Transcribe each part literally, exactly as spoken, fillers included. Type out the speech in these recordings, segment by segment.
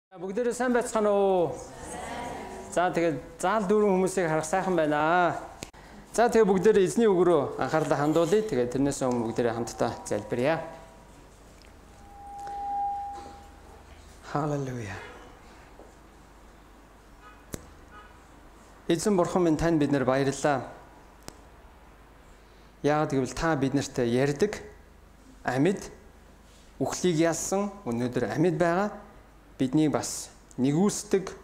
Бүгдээрээ сайн байцгаана уу? За тэгээд заал дүүрэн хүмүүсийг харах сайхан байна. За тэгээд бүгдээрээ эзний үг рүү анхаарлаа хандуулъя. Тэгээд тэрнээс өмнө бүгдээрээ хамтдаа залбирая. Халелуя. Эзэн бурхан минь танд бид нар баярлалаа. Яагаад гэвэл та биднэрт ярьдаг, амьд, үхлийг ялсан, өнөөдөр амьд байгаа. Биднийг бас нэгүсдэг,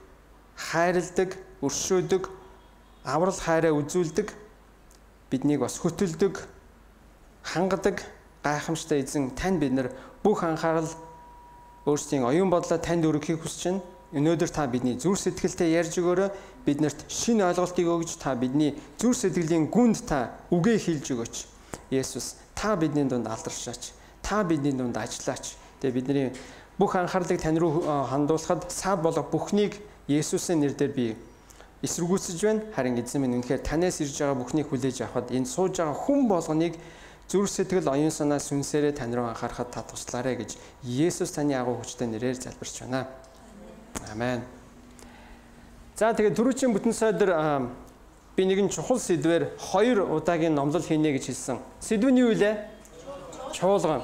хайрладаг, өршөөдөг, аврал хайраа үзүүлдэг, биднийг бас хөтөлдөг, хангадаг, гайхамшигтай эзэн тань бид нар бүх анхаарал өөрсдийн оюун бодлоо танд өргөхийг хүсэж байна. Өнөөдөр та бидний зүрх сэтгэлтэй ярьж өгөөрэй. Биднэрт шинэ ойлголтыг өгж та бидний зүрх сэтгэлийн гүнд та үгээ хэлж өгөөч. Есүс, та бидний дунд алдаршаач. Та бидний дунд ажиллаач. Тэгээ бидний бүх анхаарлыг тань руу хандуулахад саад болох бүхнийг Есүсийн нэрээр би эсэргүүцэж байна. Харин эзэн минь үнэхээр танаас ирж байгаа бүхнийг хүлээж авахад энэ сууж байгаа хүн болгоныг зүрх сэтгэл оюун санаа сүнсээрээ тань руу анхаарахад та туслаарай гэж Есүс таны агуу хүчтэй нэрээр залбирч байна. Амен. За тэгээд түрүүчийн бүтэн сойдор би нэгэн чухал сэдвээр хоёр удаагийн номлол хийнэ гэж хэлсэн. Сэдвүүний юу вэ? Чуулган.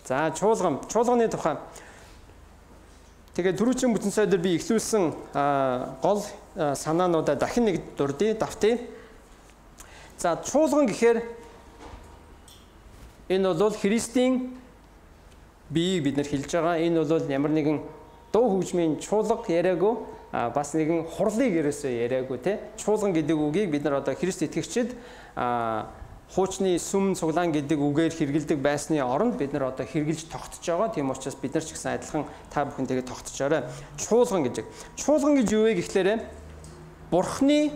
За чуулган, чуулганы тухай. Тэгээд түрүүчийн бүтэн сойдор би эхлүүлсэн гол санаануудаа дахин нэг дурдъя, давтъя. За чуулган гэхээр энэ бол Христийн биеийг бид нар хэлж байгаа. Энэ бол ямар нэгэн дуу хөгжмийн чуулга яриаггүй, бас нэгэн хурлыг ерөөсөө яриаггүй те. Чуулган гэдэг үгийг бид нар одоо Христ итгэгчид хуучны сүм цуглаан гэдэг үгээр хэрэгэлдэг байсны оронд бид нар одоо хэрэгжилж тогтож байгаа. Тийм учраас бид нар ч гэсэн адилхан та бүхэн тэгээд тогтожоорой. Чуулган гэж. Чуулган гэж юу вэ гэхлээрэ Бурхны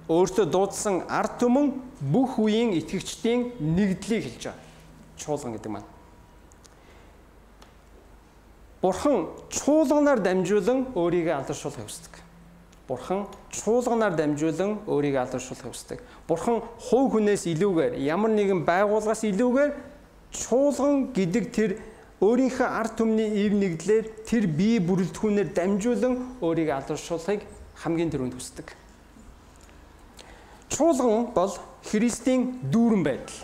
өөртөө дуудсан ард түмэн бүх үеийн итгэгчдийн нэгдлийг хэлж байгаа. Чуулган гэдэг маань. Бурхан чуулганаар дамжуулан өөрийгөө алдаршуулахыг хүсдэг. Бурхан чуулганаар дамжуулан өөрийгөө алдаршуулахыг хүсдэг. Бурхан хувь хүнээс илүүгээр, ямар нэгэн байгууллагаас илүүгээр чуулган гэдэг тэр өөрийнхөө ард түмний ив нэгдлэр тэр бие бүрэлдэхүүнээр дамжуулан өөрийгөө алдаршуулахыг хамгийн түрүүнд хүсдэг. Чуулган бол Христийн дүүрэн байдал.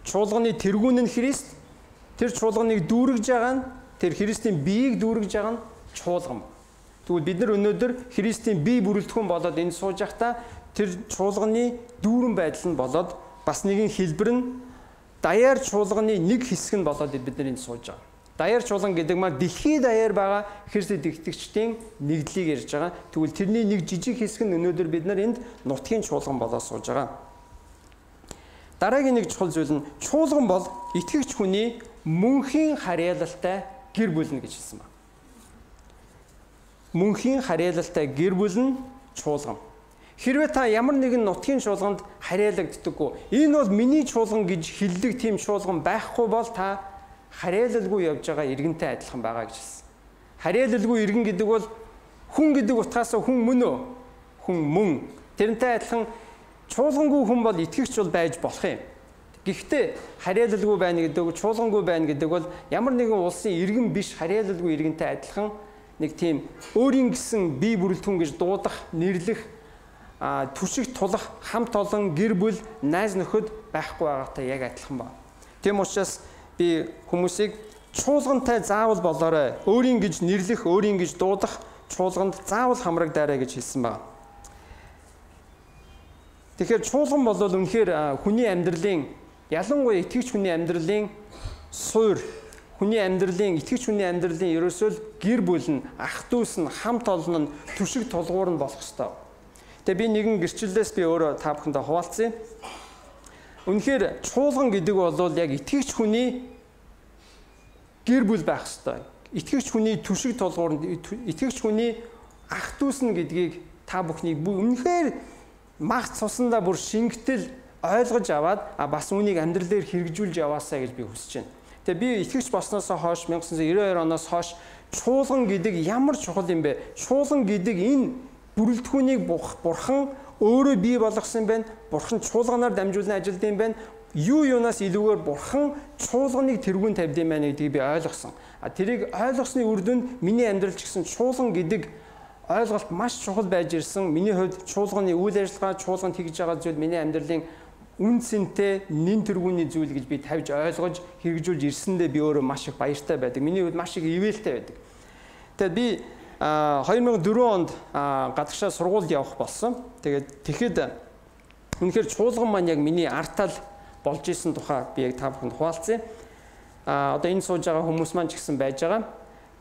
Чуулганы тэргүүн нь Христ, тэр чуулганыг дүүргэж байгаа нь тэр Христийн биеийг дүүргэж байгаа нь чуулган. Тэгвэл бид нар өнөөдөр Христийн бие бүрэлдэхүүн болоод энэ сууж байхдаа тэр чуулганы дүүрэн байдал нь болоод бас нэгэн хэлбэр нь даяар чуулганы нэг хэсэг нь болоод бид нар энд сууж байгаа. Даяар чуулган гэдэг маань дэлхийд даяар байгаа Христ итгэгчдийн нэгдлийг ярьж байгаа. Тэгвэл тэрний нэг жижиг хэсэг нь өнөөдөр бид нар энд нутгийн чуулган болоод сууж байгаа. Дараагийн нэг чухал зүйл нь чуулган бол итгэгч хүний мөнхийн харьяалалтай гэр бүл нь гэж хэлсэн байна. Мөнхийн харьяалалтай гэр бүл нь чуулган. Хэрвээ та ямар нэгэн нутгийн чуулганд харьяалагддаггүй, энэ бол миний чуулган гэж хэлдэг тийм чуулган байхгүй бол та харьяалалгүй явж байгаа иргэнтэй адилхан байгаа гэж хэлсэн. Харьяалалгүй иргэн гэдэг бол хүн гэдэг утгаас хүн мөн үү? Хүн мөн. Тэрнтэй адилхан чуулгангүй хүн бол итгэгч бол байж болох юм. Гэхдээ харьяалалгүй байна гэдэг, чуулгангүй байна гэдэг бол ямар нэгэн улсын иргэн биш, харьяалалгүй иргэнтэй адилхан нэг тийм өөрийн гэсэн бие бүрэлдэхүүн гэж дуудах, нэрлэх, түшиг тулах, хамт олон гэр бүл, найз нөхөд байхгүй байгаатай яг адилхан байна. Тийм учраас би хүмүүсийг чуулгантай заавал болоорой. Өөрийн гэж нэрлэх, өөрийн гэж дуудах чуулганд заавал хамрагдаарай гэж хэлсэн байна. Тэгэхээр чуулган бол үнэхээр хүний амьдралын, ялангуяа итгэгч хүний амьдралын суурь, хүний амьдралын, итгэгч хүний амьдралын ерөөсөө гэр бүл нь, ах дүүс нь, хамт олон нь, түшиг тулгуур нь болох ёстой. Тэгээ би нэгэн гэрчлэлээс би өөрөө та бүхэндээ хуваалцъя. Үнэхээр чуулган гэдэг бол яг итгэгч хүний гэр бүл байх ёстой. Итгэгч хүний түшиг тулгуур нь, итгэгч хүний ах дүүс нь гэдгийг та бүхнийг үнэхээр мах цусандаа бүр шингэтэл ойлгож аваад бас үүнийг амьдрал дээр хэрэгжүүлж яваасаа гэж би хүсэж байна. Тэгээ би итгэгч болсноос хойш 천аа девятьсот девяносто two оноос хойш чуулган гэдэг ямар чухал юм бэ? Чуулган гэдэг энэ бүрэлдэхүүнийг бурхан өөрөө бий болгосон байна. Бурхан чуулганаар дамжуулан ажилдсан байна. Юу юунаас илүүгээр бурхан чуулганыг тэргүүн тавьд юм байна гэдгийг би ойлгосон. А тэрийг ойлгосны үр дүнд миний амьдрал ч гэсэн чуулган гэдэг ойлголт маш чухал байж ирсэн. Миний хувьд чуулганы үйл ажиллагаа, чуулганд хийж байгаа зүйл миний амьдралын үн цэнтэй, нэн тэргүүний зүйл гэж би тавьж ойлгож хэрэгжүүлж ирсэндээ би өөрөө маш их баяртай байдаг. Миний хувьд маш их ивэлтэй байдаг. Тэгээд би хоёр мянга дөрвөн онд гадагшаа сургуульд явах болсон. Тэгээд тэгэхэд үнэхээр чуулган маань яг миний артал болж исэн тухай би яг та бүхэнд хуваалцъя. А одоо энэ сууж байгаа хүмүүс маань ч гэсэн байж байгаа.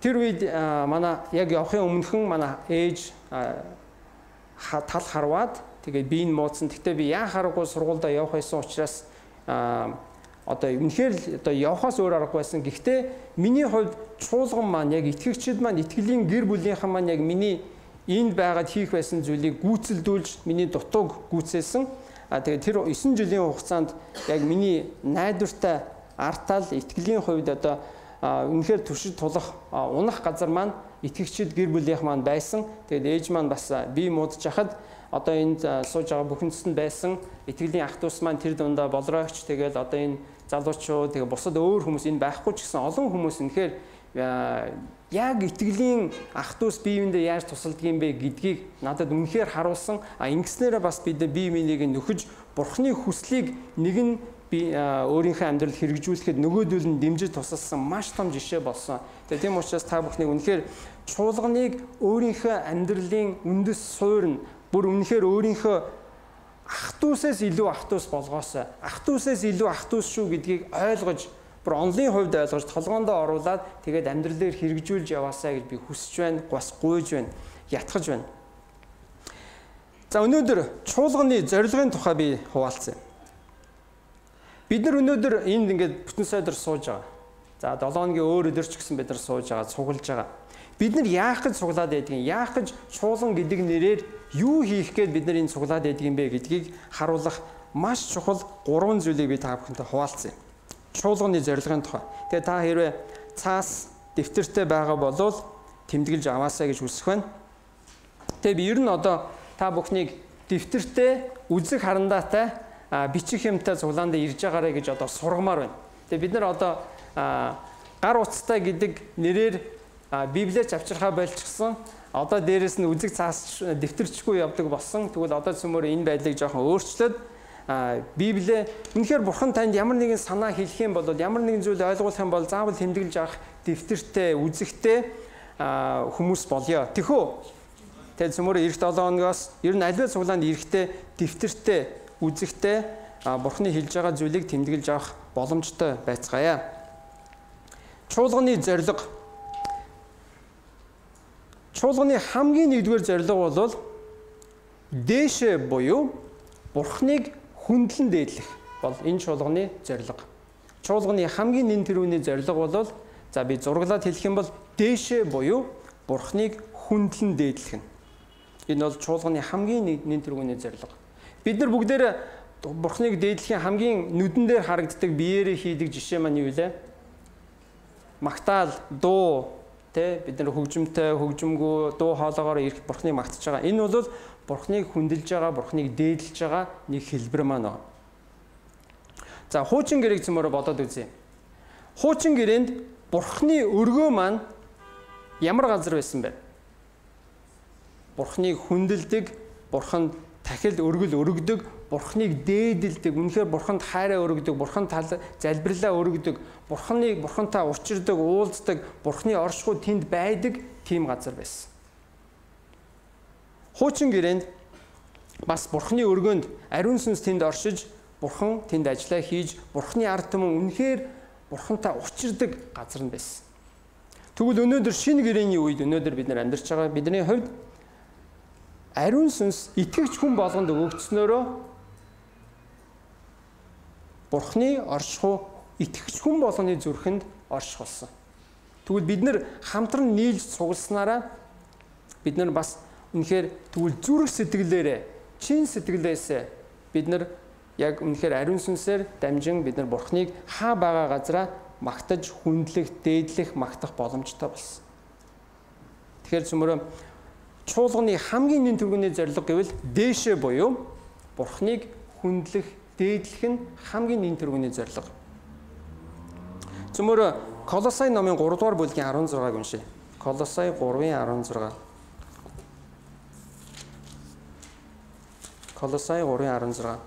Тэр үед манай яг явахын өмнөхөн манай ээж тал харваад тэгээд би энэ муудсан. Гэхдээ би яа харахгүй сургуульдаа явах байсан учраас одоо үнэхээр одоо явахаас өөр аргагүй байсан. Гэхдээ миний хувьд чуулган маань яг итгэгчид маань итгэлийн гэр бүлийнхэн маань яг миний энд байгаад хийх байсан зүйлийг гүйцэлдүүлж миний дутууг гүйцээсэн. А тэгээд тэр есөн жилийн хугацаанд яг миний найдвартай артал итгэлийн хувьд одоо үнэхээр туршид тулах унах газар маань итгэгчид гэр бүлийнх маань байсан. Тэгээд ээж маань бас би муудж хахад одоо энд сууж байгаа бүхэндэст нь байсан итгэлийн ах дүүс маань тэр дундаа болроогч тэгээд одоо энэ залуучууд тэгээд бусад өөр хүмүүс энэ байхгүй ч гэсэн олон хүмүүс үнэхээр яг итгэлийн ах дүүс биеиндээ яаж тусалдаг юм бэ гэдгийг надад үнэхээр харуулсан. А ингэснээрээ бас бид бие биенийг нөхөж бурхны хүслийг нэг нь би өөрийнхөө амьдралд хэрэгжүүлэхэд нөгөөдөл нь дэмжиж тусалсан маш том жишээ болсон. Тэгээд тийм учраас та бүхнийг үнэхээр чуулганыг өөрийнхөө амьдралын үндэс суурь нь бүр үнэхээр өөрийнхөө ах дүүсээс илүү ах дүүс болгоосоо ах дүүсээс илүү ах дүүс шүү гэдгийг ойлгож бүр онлын хувьд ойлгож толгоондоо оруулаад тэгээд амьдрал дээр хэрэгжүүлж яваасаа гэж би хүсэж байна, бас гуйж байна, ятгах байна. За өнөөдөр чуулганы зорилгын тухай би хуваалцъя. Бид нар өнөөдөр энд ингээд бүтэн сайдар сууж байгаа. За долоо хоногийн өөр өдөр ч гэсэн бид нар сууж байгаа, цуглаж байгаа. Бид нар яах гэж цуглаад байдгийг, яах гэж чуулган гэдэг нэрээр юу хийх гээд бид нар энэ цуглаад байдгийг юм бэ гэдгийг харуулах маш чухал гурван зүйлийг би та бүхэнтэй хуваалцъя. Чуулганы зорилгын тухай. Тэгээ та хэрвээ цаас дэвтэртэй байгаа болвол тэмдэглэж аваасаа гэж хүсэх байна. Тэгээ би ер нь одоо та бүхнийг дэвтэртэй, үзэг харандаатай бичих юмтай цуглаанд ирж байгаарэ гэж одоо сургамаар байна. Тэгээ бид нар одоо гар утастай гэдэг нэрээр Библиэд авчирхаа болчихсон. Одоо дээрэс нь үзэг цаас дэвтэрчгүй явдаг болсон. Тэгвэл одоо цөмөр энэ байдлыг жоохон өөрчлөөд Библиэ үнэхээр бурхан танд ямар нэгэн санаа хэлэх юм бол ямар нэгэн зүйл ойлгуулах юм бол заавал тэмдэглэж авах дэвтэртэй, үзэгтэй хүмүүс болёо. Тэхүү. Тэгээд цөмөр эх долоо хоногоос ер нь аливаа цуглаанд эрэхтэй, дэвтэртэй, үзэгтэй бурханы хэлж байгаа зүйлийг тэмдэглэж авах боломжтой байцгаая. Чуулганы зорилго. Чуулганы хамгийн нэгдүгээр зорилго бол дээшээ буюу бурхныг хүндлэн дээдлэх бол энэ чуулганы зорилго. Чуулганы хамгийн нэн тэрүүний зорилго бол за би зураглаад хэлэх юм бол дээшээ буюу бурхныг хүндлэн дээдлэх нь. Энэ бол чуулганы хамгийн нэн тэрүүний зорилго. Бид нар бүгдээр бурхныг дээдлэхийн хамгийн нүдэн дээр харагддаг биеэрээ хийдэг жишээ маань юу вэ? Магтаал, дуу, тэ бид нар хөгжимтэй, хөгжимгүй, дуу хоолоогоор ирэх бурхныг магтаж байгаа. Энэ бол бурхныг хүндэлж байгаа, бурхныг дээдлэж байгаа нэг хэлбэр маань байна. За хуучин гэрээг цөмөрө бодоод үзье. Хуучин гэрээнд бурхны өргөө маань ямар газар байсан бэ? Бурхныг хүндэлдэг, бурханд дахил өргөл өргөдөг, бурхныг дээдэлдэг, үнэхээр бурханд хайраа өргөдөг, бурханд залбирлаа өргөдөг, бурхныг бурхантай учирдаг, уулздаг, бурхны оршихуй тэнд байдаг тийм газар байсан. Хуучин гэрээнд бас бурхны өргөнд ариун сүнс тэнд оршиж, бурхан тэнд ажиллаа хийж, бурхны ард түмэн үнэхээр бурхантай учирдаг газар нь байсан. Тэгвэл өнөөдөр шинэ гэрээний үед өнөөдөр бид нар амьдарч байгаа бидний хувьд ариун сүнс итгэгч хүн болгонд өгөгдснөөрөө бурхны оршихуй итгэгч хүн болгоны зүрхэнд орших болсон. Тэгвэл бид нар хамтран нийлж цугласнараа бид нар бас үнэхээр тэгвэл зүрх сэтгэлээрээ, чин сэтгэлээсээ бид нар яг үнэхээр ариун сүнсээр дамжин бид нар бурхныг хаа байгаа газараа магтаж, хүндлэх, дээдлэх, магтах боломжтой болсон. Тэгэхээр цөмөрөө чуулганы хамгийн нэн тэргүүний зорилго гэвэл дээшээ буюу бурхныг хүндлэх, дээдлэх нь хамгийн нэн тэргүүний зорилго. Цөмөрөө Колосай номын гурав дугаар бүлгийн арван зургааг уншъя. Колосай гурвын арван зураг. Колосай гурвын арван зураг.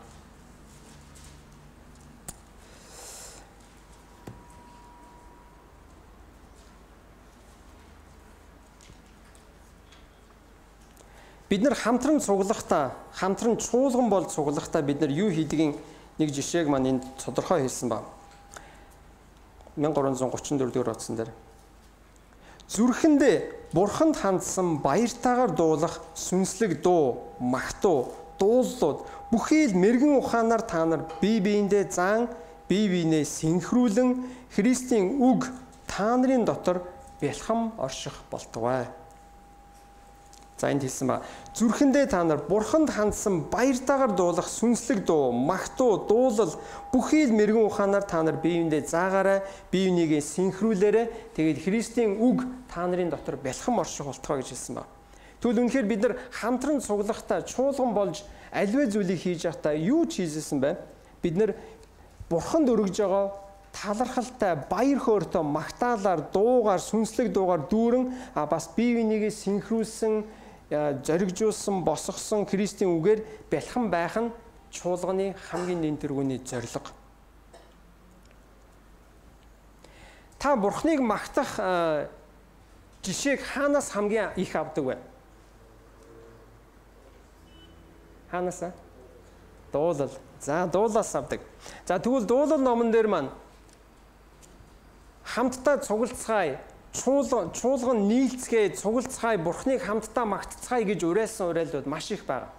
Бид нар хамтран цуглахдаа, хамтран чуулган бол цуглахдаа бид нар юу хийдгийг нэг жишээг маань энд тодорхой хэлсэн ба. мянга гурван зуун гучин дөрөв дэх утсан дээр. Зүрхэндээ бурханд хандсан баяртайгаар дуулах сүнслэг дуу, магтуу, дуулууд бүхий л мэрэгэн ухаанаар та нар бие биендээ зан, бие биенээ синхруулэн Христийн үг та нарын дотор бэлхам орших болтугай. За энд хэлсэн ба зүрхэндээ та нар бурханд хандсан баяртайгаар дуулах сүнслэг дуу, магтуу, дуулал бүхий л мэрэгэн ухаанаар та нар биеиндээ заагаарай, бие бинийгээ синхруулээрэй. Тэгээд Христийн үг та нарын дотор бэлхам орших болтугай гэж хэлсэн ба. Тэгвэл үнэхээр бид нар хамтран цуглахдаа, чуулган болж аливаа зүйлийг хийж байхдаа юу ч хийжсэн бэ? Бид нар бурханд өргөж байгаа талархалтай, баяр хөөртэй магтаалаар, дуугаар, сүнслэг дуугаар дүүрэн а бас бие бинийгээ синхруулсан, зоригжуулсан, босгосон Христийн үгээр бэлхэн байх нь чуулганы хамгийн нэн тэргүүний зорилго. Та бурхныг магтах жишээг хаанаас хамгийн их авдаг вэ? Хаанаас? Дуулал. За дуулаас авдаг. За тэгвэл дуулал номон дээр маань хамтдаа цугалцгаая, чуулган чуулган нийлцгээе, цугалцгаая, бурхныг хамтдаа магтцгаая гэж уриалсан уриалууд маш их байна.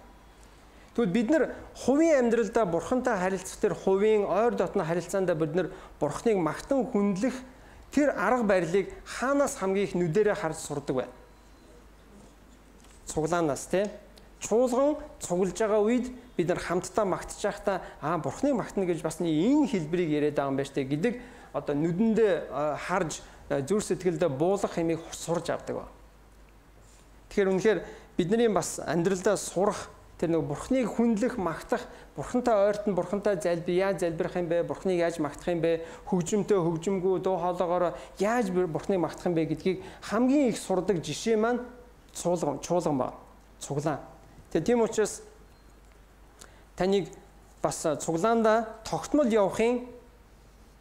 Тэгвэл бид нар хувийн амьдралдаа бурхантай харилцах тэр хувийн ойр дотны харилцаанд бид нар бурхныг магтан хүндлэх тэр арга барилыг хаанаас хамгийн их нүдэрээ харж сурдаг вэ? Цуглаанаас тий. Чуулган цуглаж байгаа үед бид нар хамтдаа магтж байхдаа аа бурхныг магтана гэж бас энэ хэлбэрийг яриад байгаа юм байна штэ гэдэг одоо нүдэндээ харж зүр сэтгэлдээ буулгах хэмээг сурж авдаг ба. Тэгэхээр үнэхээр бидний бас амьдралдаа сурах тэр нэг бурхныг хүндлэх, магтах, бурхантай ойртон бурхантай залбир яаж залбирах юм бэ? Бурхныг яаж магтах юм бэ? Хөгжмөнтэй хөгжмгүй дуу хоолоогоор яаж бурхныг магтах юм бэ гэдгийг хамгийн их сурдаг жишээ маань чуулган, чуулган ба. Цуглаан. Тэгээ тийм учраас таныг бас цуглаанда тогтмол явахын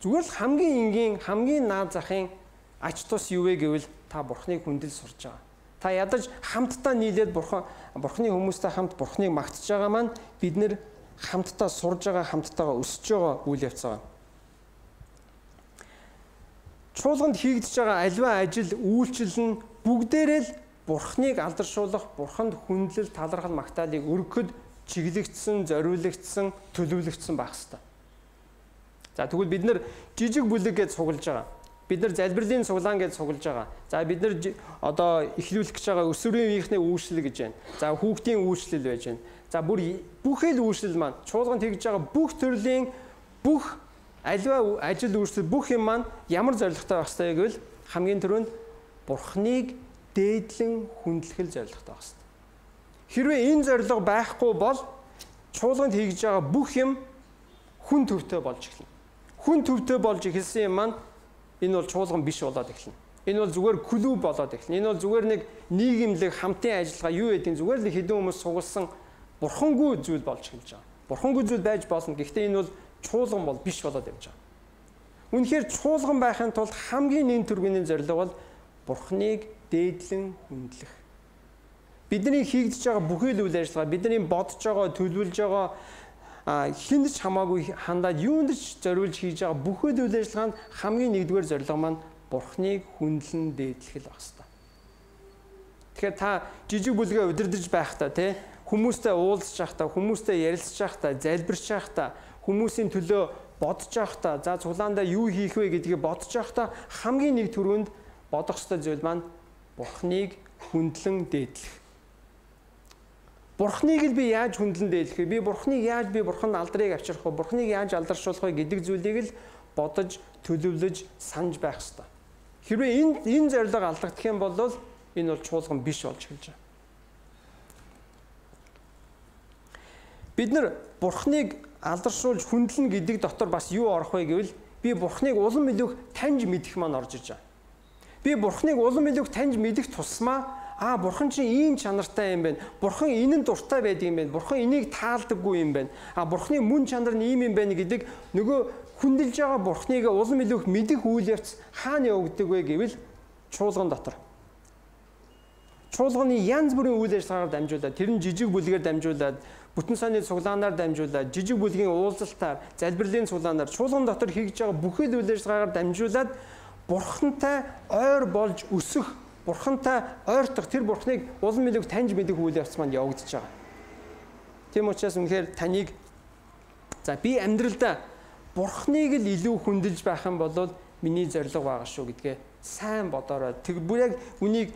зүгээр л хамгийн энгийн, хамгийн наад захын ач тус юу вэ гэвэл та бурхныг хүндэл сурж байгаа. Та ядаж хамтдаа нийлээд бурхан бурхны хүмүүстэй хамт бурхныг магтж байгаа маань бид нэр хамтдаа сурж байгаа, хамтдаа өсөж байгаа үйл явц байгаа. Чуулганд хийгдэж байгаа аливаа ажил, үйлчлэл нь бүгдээрээ л бурхныг алдаршуулах, бурханд хүндлэл, талархал, магтаалыг өргөхөд чиглэгдсэн, зориулагдсан, төлөвлөгдсөн байх ёстой. За тэгвэл бид нар жижиг бүлэг гэж цуглаж байгаа. Бид нар залбирлын цуглаан гэж цуглаж байгаа. За бид нар одоо эхлүүлэх гэж байгаа өсвөрийн үеийнхний үйлчлэл гэж байна. За хүүхдийн үйлчлэл байж байна. За бүр бүхэл үйлчлэл маань чуулганд хийж байгаа бүх төрлийн бүх аливаа ажил үйлчлэл бүх юм маань ямар зорилготой байх ёстой гэвэл хамгийн түрүүнд бурхныг дээдлэн хүндлэх зорилготой байх ёстой. Хэрвээ энэ зорилго байхгүй бол чуулганд хийж байгаа бүх юм хүн төвтэй болж эхэлнэ. Хүн төвтэй болж эхэлсэн юм маань энэ бол чуулган биш болоод эхэлнэ. Энэ бол зүгээр клуб болоод эхэлнэ. Энэ бол зүгээр нэг нийгэмлэг хамтын ажиллагаа юу гэдэг нь зүгээр л хэдэн хүмүүс сугалсан бурхангүй зүйл болж эхэлж байгаа. Бурхангүй зүйл байж болно. Гэхдээ энэ бол чуулган бол биш болоод явж байгаа. Үнэхээр чуулган байхын тулд хамгийн нэн төргийн зорилго бол бурхныг дээдлэн хүндлэх. Бидний хийгдэж байгаа бүхий л үйл ажиллагаа, бидний бодож байгаа, төлөвлөж байгаа хинд ч хамаагүй хандаад юунд ч зориулж хийж байгаа бүхэл үйл ажиллагаанд хамгийн нэгдүгээр зорилго маань бурхныг хүндлэн дээдлэх л байх ёстой. Тэгэхээр та жижиг бүлгээ удирдах байхдаа тий хүмүүстэй уулзж байхдаа, хүмүүстэй ярилцж байхдаа, залбирч байхдаа, хүмүүсийн төлөө бодож байхдаа, за цуглаандаа юу хийх вэ гэдгийг бодож байхдаа хамгийн нэг түрүүнд бодох ёстой зүйл маань бурхныг хүндлэн дээдлэх. Бурхныг л би яаж хүндлэн дээдлэх вэ? Би бурхныг яаж би бурханд алдрыг авчрах вэ? Бурхныг яаж алдаршуулах вэ гэдэг зүйлийг л бодож, төлөвлөж, санаж байх ёстой. Хэрвээ энэ энэ зорилго алдагдах юм бол энэ бол чуулган биш болж эхэлж байгаа. Бид нар бурхныг алдаршуулж хүндлэн гэдэг дотор бас юу орох вэ гэвэл би Бурхныг улам илүү таньж мэдэх маань орж иж байгаа. Би Бурхныг улам илүү таньж мэдэх тусмаа аа Бурхан чинь ийм чанартай юм байна. Бурхан энэ нь дуртай байдаг юм байна. Бурхан энийг таалдаггүй юм байна. Аа Бурханы мөн чанар нь ийм юм байна гэдэг нөгөө хүндэлж байгаа Бурхныг улам илүү мэдэх үйл явц хаана явагддаг вэ гэвэл чуулган дотор. Чуулганы янз бүрийн үйл ажиллагаагаар дамжуулаад, тэр нь жижиг бүлгээр дамжуулаад, бүтэн саяны цуглаанаар дамжуулаад, жижиг бүлгийн уулзалтаар, залбирлын цуглаанаар чуулган дотор хийж байгаа бүхэл үйл ажиллагаагаар дамжуулаад Бурхантай ойр болж өсөх, Бурхантай ойртох, тэр Бурхныг улам илүү таньж мэдэх үйл явц манд явагдаж байгаа. Тийм учраас үнэхээр таныг за би амьдралдаа Бурхныг л илүү хүндэлж байх юм бол миний зорилго байгаа шүү гэдгээ сайн бодорой. Тэг бүр яг үнийг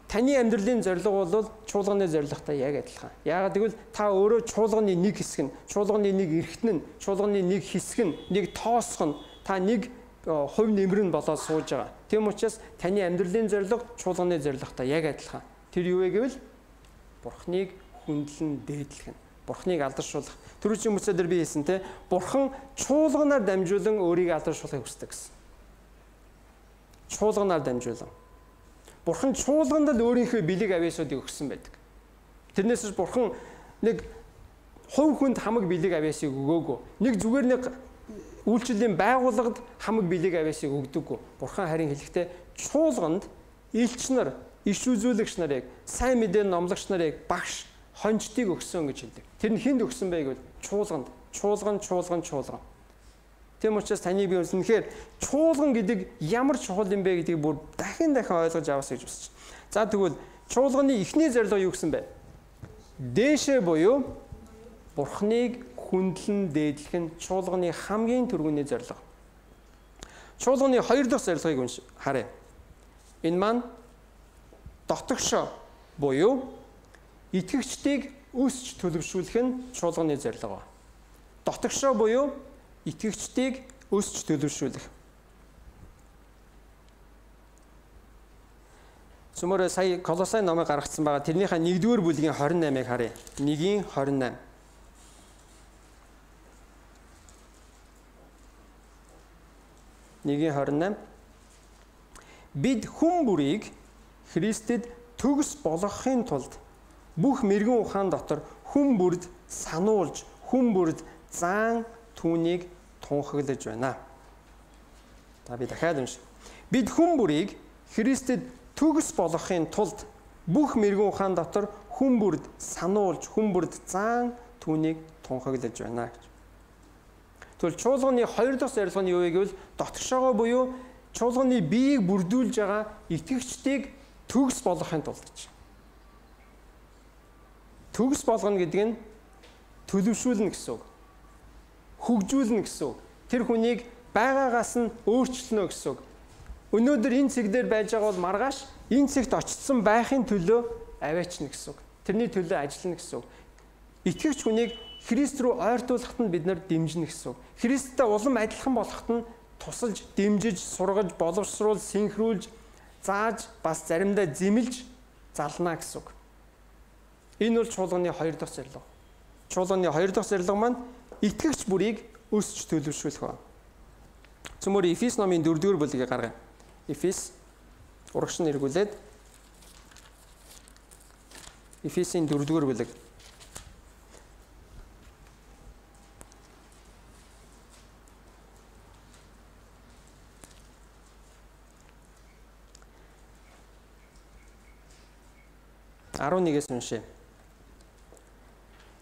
таны амьдралын зорилго бол чуулганы зорилготой яг адилхан. Яагаад гэвэл та өөрөө чуулганы нэг хэсэг нь, чуулганы нэг эрхтэн нь, чуулганы нэг хэсэг нь, нэг тоосх нь, та нэг хувь нэмэр нь болоод сууж байгаа. Тийм учраас таны амьдралын зорилго чуулганы зорилготой яг адилхан. Тэр юу вэ гэвэл Бурхныг хүндлэн дээдлэх нь. Бурхныг алдаршуулах. Түрүүчийн бүсээр би хэлсэн те, Бурхан чуулганаар дамжуулан өөрийг алдаршуулахыг хүсдэг гэсэн. Чуулганаар дамжуулан. Бурхан чуулганд л өөрийнхөө бэлэг авьяасуудыг өгсөн байдаг. Тэрнээс Бурхан нэг хувь хүнд хамаг бэлэг авьяасыг өгөөгүй. Нэг зүгээр нэг үйлчлэлийн байгууллагад хамаг бэлэг авьяасыг өгдөггүй. Бурхан харин хэлэхдээ чуулганд элч нар, иш үзүүлэгч нарыг, сайн мэдээний номлогч нарыг, багш, хончдыг өгсөн гэж хэлдэг. Тэр нь хэнд өгсөн бэ гэвэл чуулганд, чуулган, чуулган, чуулган. Тийм учраас таны би үнэхээр чуулган гэдэг ямар чухал юм бэ гэдгийг бүр дахин дахин ойлгож авах гэж хүсэж байна. За тэгвэл чуулганы эхний зорилго юу гэсэн бэ? Дээшээ буюу Бурхныг хүндлэн дээдлэх нь чуулганы хамгийн түрүүний зорилго. Чуулганы хоёр дахь зорилгыг унш харъя. Энэ маань дотогшоо буюу итгэгчдийг өсч төлөвшүүлэх нь чуулганы зорилго. Дотогшоо буюу итгэгчдийг өсч төлөвшүүлэх. Сүмөр сая Колосай номыг гаргацсан байгаа. Тэрнийхээ нэгдүгээр бүлгийн хорин наймыг харъя. Нэгийн хорин найм. Нэгийн хорин найм. Бид хүн бүрийг Христэд төгс болгохын тулд бүх мэрэгэн ухаан дотор хүн бүрд сануулж, хүн бүрд заан түүнийг тунхаглаж байна. За би дахиад уншия. Бид хүн бүрийг Христэд төгс болгохын тулд бүх мэрэгэн ухаан дотор хүн бүрд сануулж, хүн бүрд заан түүнийг тунхаглаж байна гэж. Тэгвэл чуулганы хоёр дахь зорилго нь юу вэ гэвэл дотгошоогоо буюу чуулганы биеийг бүрдүүлж байгаа итгэгчдийг төгс болгохын тулд гэж. Төгс болгоно гэдэг нь төлөвшүүлнэ гэсэн үг. Хөгжүүлнэ гэсэн үг. Тэр хүнийг байгаагаас нь өөрчлөнө гэсэн үг. Өнөөдөр энэ цэг дээр байж байгаа бол маргааш энэ цэгт очсон байхын төлөө аваачна гэсэн үг. Тэрний төлөө ажиллана гэсэн үг. Итгэгч хүнийг Христ рүү ойртуулахад нь бид нар дэмжинэ гэсэн үг. Христтэй улам адилхан болоход нь тусалж, дэмжиж, сургаж, боловсруулж, синхруулж, зааж, бас заримдаа зэмлж залнаа гэсэн үг. Энэ бол чуулганы хоёр дахь зорилго. Чуулганы хоёр дахь зорилго маань итгэгч бүрийг өсч төлөвшүүлэх ба. Цөмөр Эфес номын дөрөвдүгээр бүлгийг гаргая. Эфес урагш нь эргүүлээд Эфесийн дөрөвдүгээр бүлэг. арван нэгээс уншъя.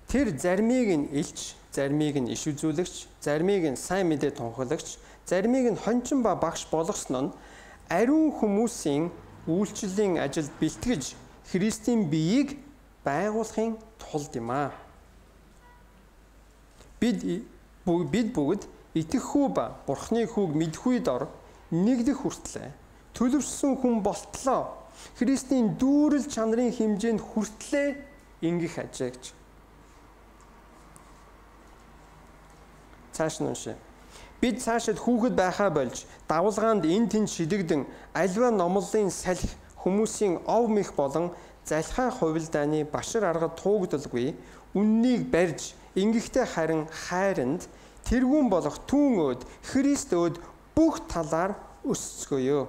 Тэр заримыг нь илч, заримыг нь иш үзүүлэгч, заримыг нь сайн мэдээ тунхаглагч, заримыг нь хончин ба багш болгосон нь ариун хүмүүсийн үйлчлэлийн ажилд бэлтгэж Христийн биеийг байгуулахын тулд юм аа. Бид бид бүгд итгэхүй ба Бурхны хүүг мэдхүйд ор нэгдэх хүртлээр төлөвшсөн хүн болтлоо. Христийн дүүрэл чанарын хэмжээнд хүртлээр ингэх ажээ гэж. Цааш нь уншъя. Бид цаашид хүүхэд байхаа болж давалгаанд эн тэн шидэгдэн альва номлолын салхи хүмүүсийн ов мэх болон залхай хувилдааны башир аргад туугдалгүй үннийг барьж ингэхдээ харин хайранд тэргүүн болох түүн өд, Христ өд бүх талаар өсцгөөё.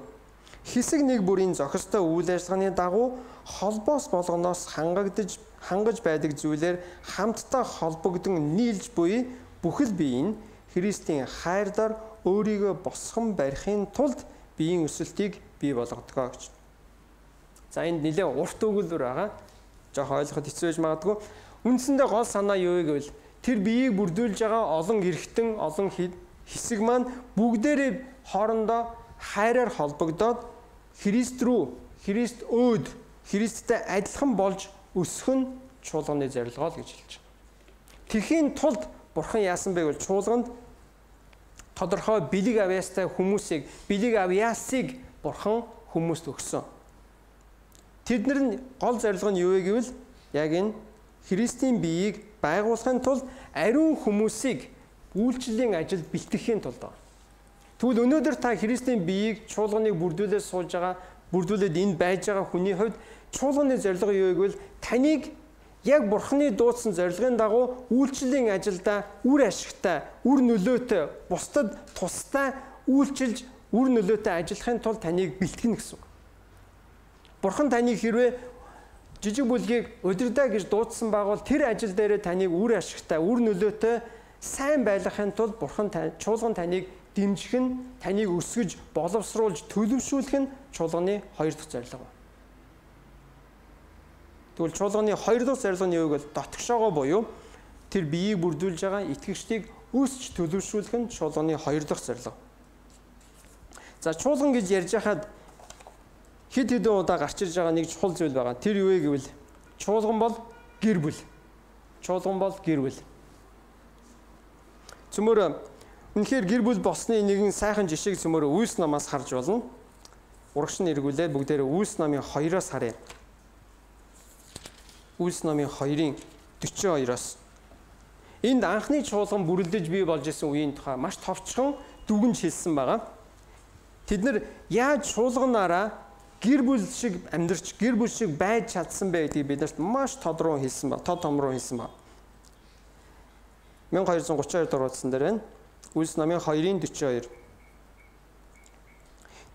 Хэсэг нэг бүрийн зохистой үйл ажиллагааны дагуу холбоос болгоноос хангагдж хангаж байдаг зүйлээр хамтдаа холбогдсон нийлж буй бүхэл бие нь Христийн хайраар өөрийгөө босгон барихын тулд биеийн өсөлтийг бий болгодгоо гэж. За энд нэлээ урт өгүүлбэр байгаа. Жохо ойлгоход хэцүү байж магадгүй. Үндсэндээ гол санаа юу вэ гэвэл тэр биеийг бүрдүүлж байгаа олон эргэтэн, олон хэсэг маань бүгдээрээ хоорондоо хайраар холбогдоод Христ рүү, Христ өөд, Христтэй адилхан болж өсөх нь чуулганы зорилгоо л гэж хэлж байгаа. Тэхийн тулд Бурхан яасан бэ гэвэл чуулганд тодорхой бэлэг авьяастай хүмүүсийг, бэлэг авьяасыг Бурхан хүмүүст өгсөн. Тэднэр нь гол зорилго нь юу вэ гэвэл яг энэ Христийн биеийг байгуулахын тулд ариун хүмүүсийг үйлчлэлийн ажилд бэлтгэхийн тулд байна. Тэгвэл өнөөдөр та Христийн биеийг чуулганыг бүрдүүлээд суулж байгаа, бүрдүүлээд энд байж байгаа хүний хувьд чуулганы зорилго юу вэ гэвэл таныг яг Бурханы дуудсан зорилгын дагуу үйлчлэлийн ажилдаа үр ашигтай, үр нөлөөтэй, бусдад тустай үйлчилж, үр нөлөөтэй ажиллахын тулд таныг бэлтгэнэ гэсэн үг. Бурхан таныг хэрвээ жижиг бүлгийг удирдаа гэж дуудсан байгуул тэр ажил дээрээ таныг үр ашигтай, үр нөлөөтэй сайн байлгахын тулд Бурхан чуулган таныг дэмжих нь, таныг өсгөж, боловсруулж, төлөвшүүлэх нь чуулганы хоёр дахь зорилго байна. Тэгвэл чуулганы хоёр дахь зорилго нь юу гэвэл дотгошоогоо буюу тэр биеийг бүрдүүлж байгаа итгэгчдийг өсч төлөвшүүлэх нь чуулганы хоёр дахь зорилго. За чуулган гэж ярьж хахад хэд хэдэн удаа гарч ирж байгаа нэг чухал зүйл байгаа. Тэр юу вэ гэвэл чуулган бол гэр бүл. Чуулган бол гэр бүл. Цөмөр үнэхээр гэр бүл болсны нэгэн сайхан жишээг цөмөр Үйлс намаас харж болно. Урагш нь эргүүлээд бүгдээрээ Үйлс намын хоёроос харъя. Үйлс намын хоёрын дөрвөн хоёроос. Энд анхны чуулган бүрлдэж бий болж исэн үеийн тухай маш товчхон дүгнж хэлсэн байгаа. Тэд нар яаж чуулганаараа гэр бүл шиг амьдарч, гэр бүл шиг байж чадсан бэ гэдгийг биднэрт маш тодорхой хэлсэн ба, тод томроо хэлсэн ба. мянга хоёр зуун гурван хоёр дуурайсан дээр байна. Үйлс намын хоёрын дөрвөн хоёр.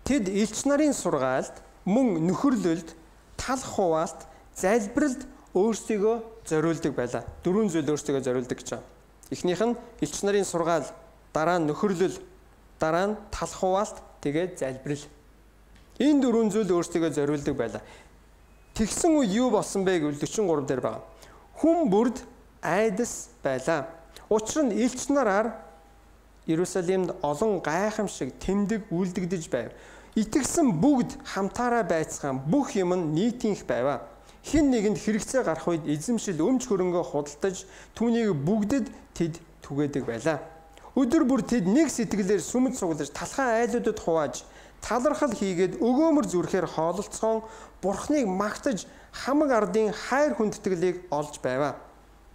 Тэд элч нарын сургаалд, мөн нөхөрлөлд, талх хуваалт, залбиралд өөрсдийгөө зориулдаг байлаа. Дөрвөн зүйл өөрсдийгөө зориулдаг гэж байна. Эхнийх нь элч нарын сургаал, дараа нь нөхөрлөл, дараа нь талх хуваалт, тэгээд залбирал. Энэ дөрвөн зүйл өөрсдийгөө зориулдаг байлаа. Тэгсэн үед юу болсон бэ гэвэл дөрвөн гурав дээр байгаа. Хүн бүрд айдас байлаа. Учир нь элч нараар Иерусалимд олон гайхамшиг тэмдэг үлдэгдэж байв. Итгэсэн бүгд хамтаараа байцгаан бүх юм нь нийтийнх байваа. Хэн нэгэнд хэрэгцээ гарах үед эзэмшил өмч хөрөнгөө худалдаж түүнийг бүгдэд тэд түгээдэг байлаа. Өдөр бүр тэд нэг сэтгэлээр сүмд суглаж талхай айлуудад хувааж талархал хийгээд өгөөмөр зүрхээр хоололцоон Бурхныг магтаж хамаг ардын хайр хүндэтгэлийг олж байваа.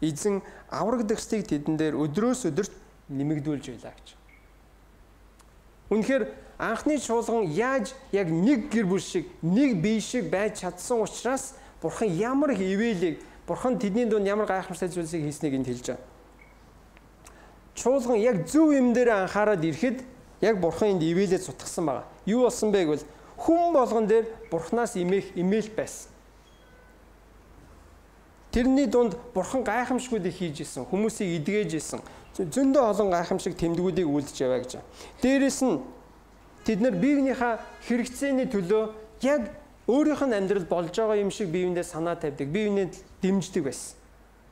Эзэн аврагдагсыг тэдэн дээр өдрөөс өдөрт нэмэгдүүлж байлаа гэж. Үнэхээр анхны чуулган яаж яг нэг гэр бүл шиг, нэг бие шиг байж чадсан учраас Бурхан ямар их ивэлийг, Бурхан тэдний дунд ямар гайхамшигтай зүйлсийг хийснийг энд хэлж байгаа. Чуулган яг зөв юм дээр анхаарал ирэхэд яг Бурхан энд ивэлээ сутгсан байгаа. Юу болсон бэ гэвэл хүн болгон дээр Бурханаас имэх имэйл байсан. Тэрний дунд Бурхан гайхамшгуудыг хийж исэн, хүмүүсийг эдгэж исэн. Зөндөө олон гайхамшиг тэмдгүүдийг үлдэж яваа гэж. Дээрээс нь тэд нар биенийхээ хэрэгцээний төлөө яг өөрийнх нь амьдрал болж байгаа юм шиг биеиндээ санаа тавьдаг, биеиндээ дэмждэг байсан.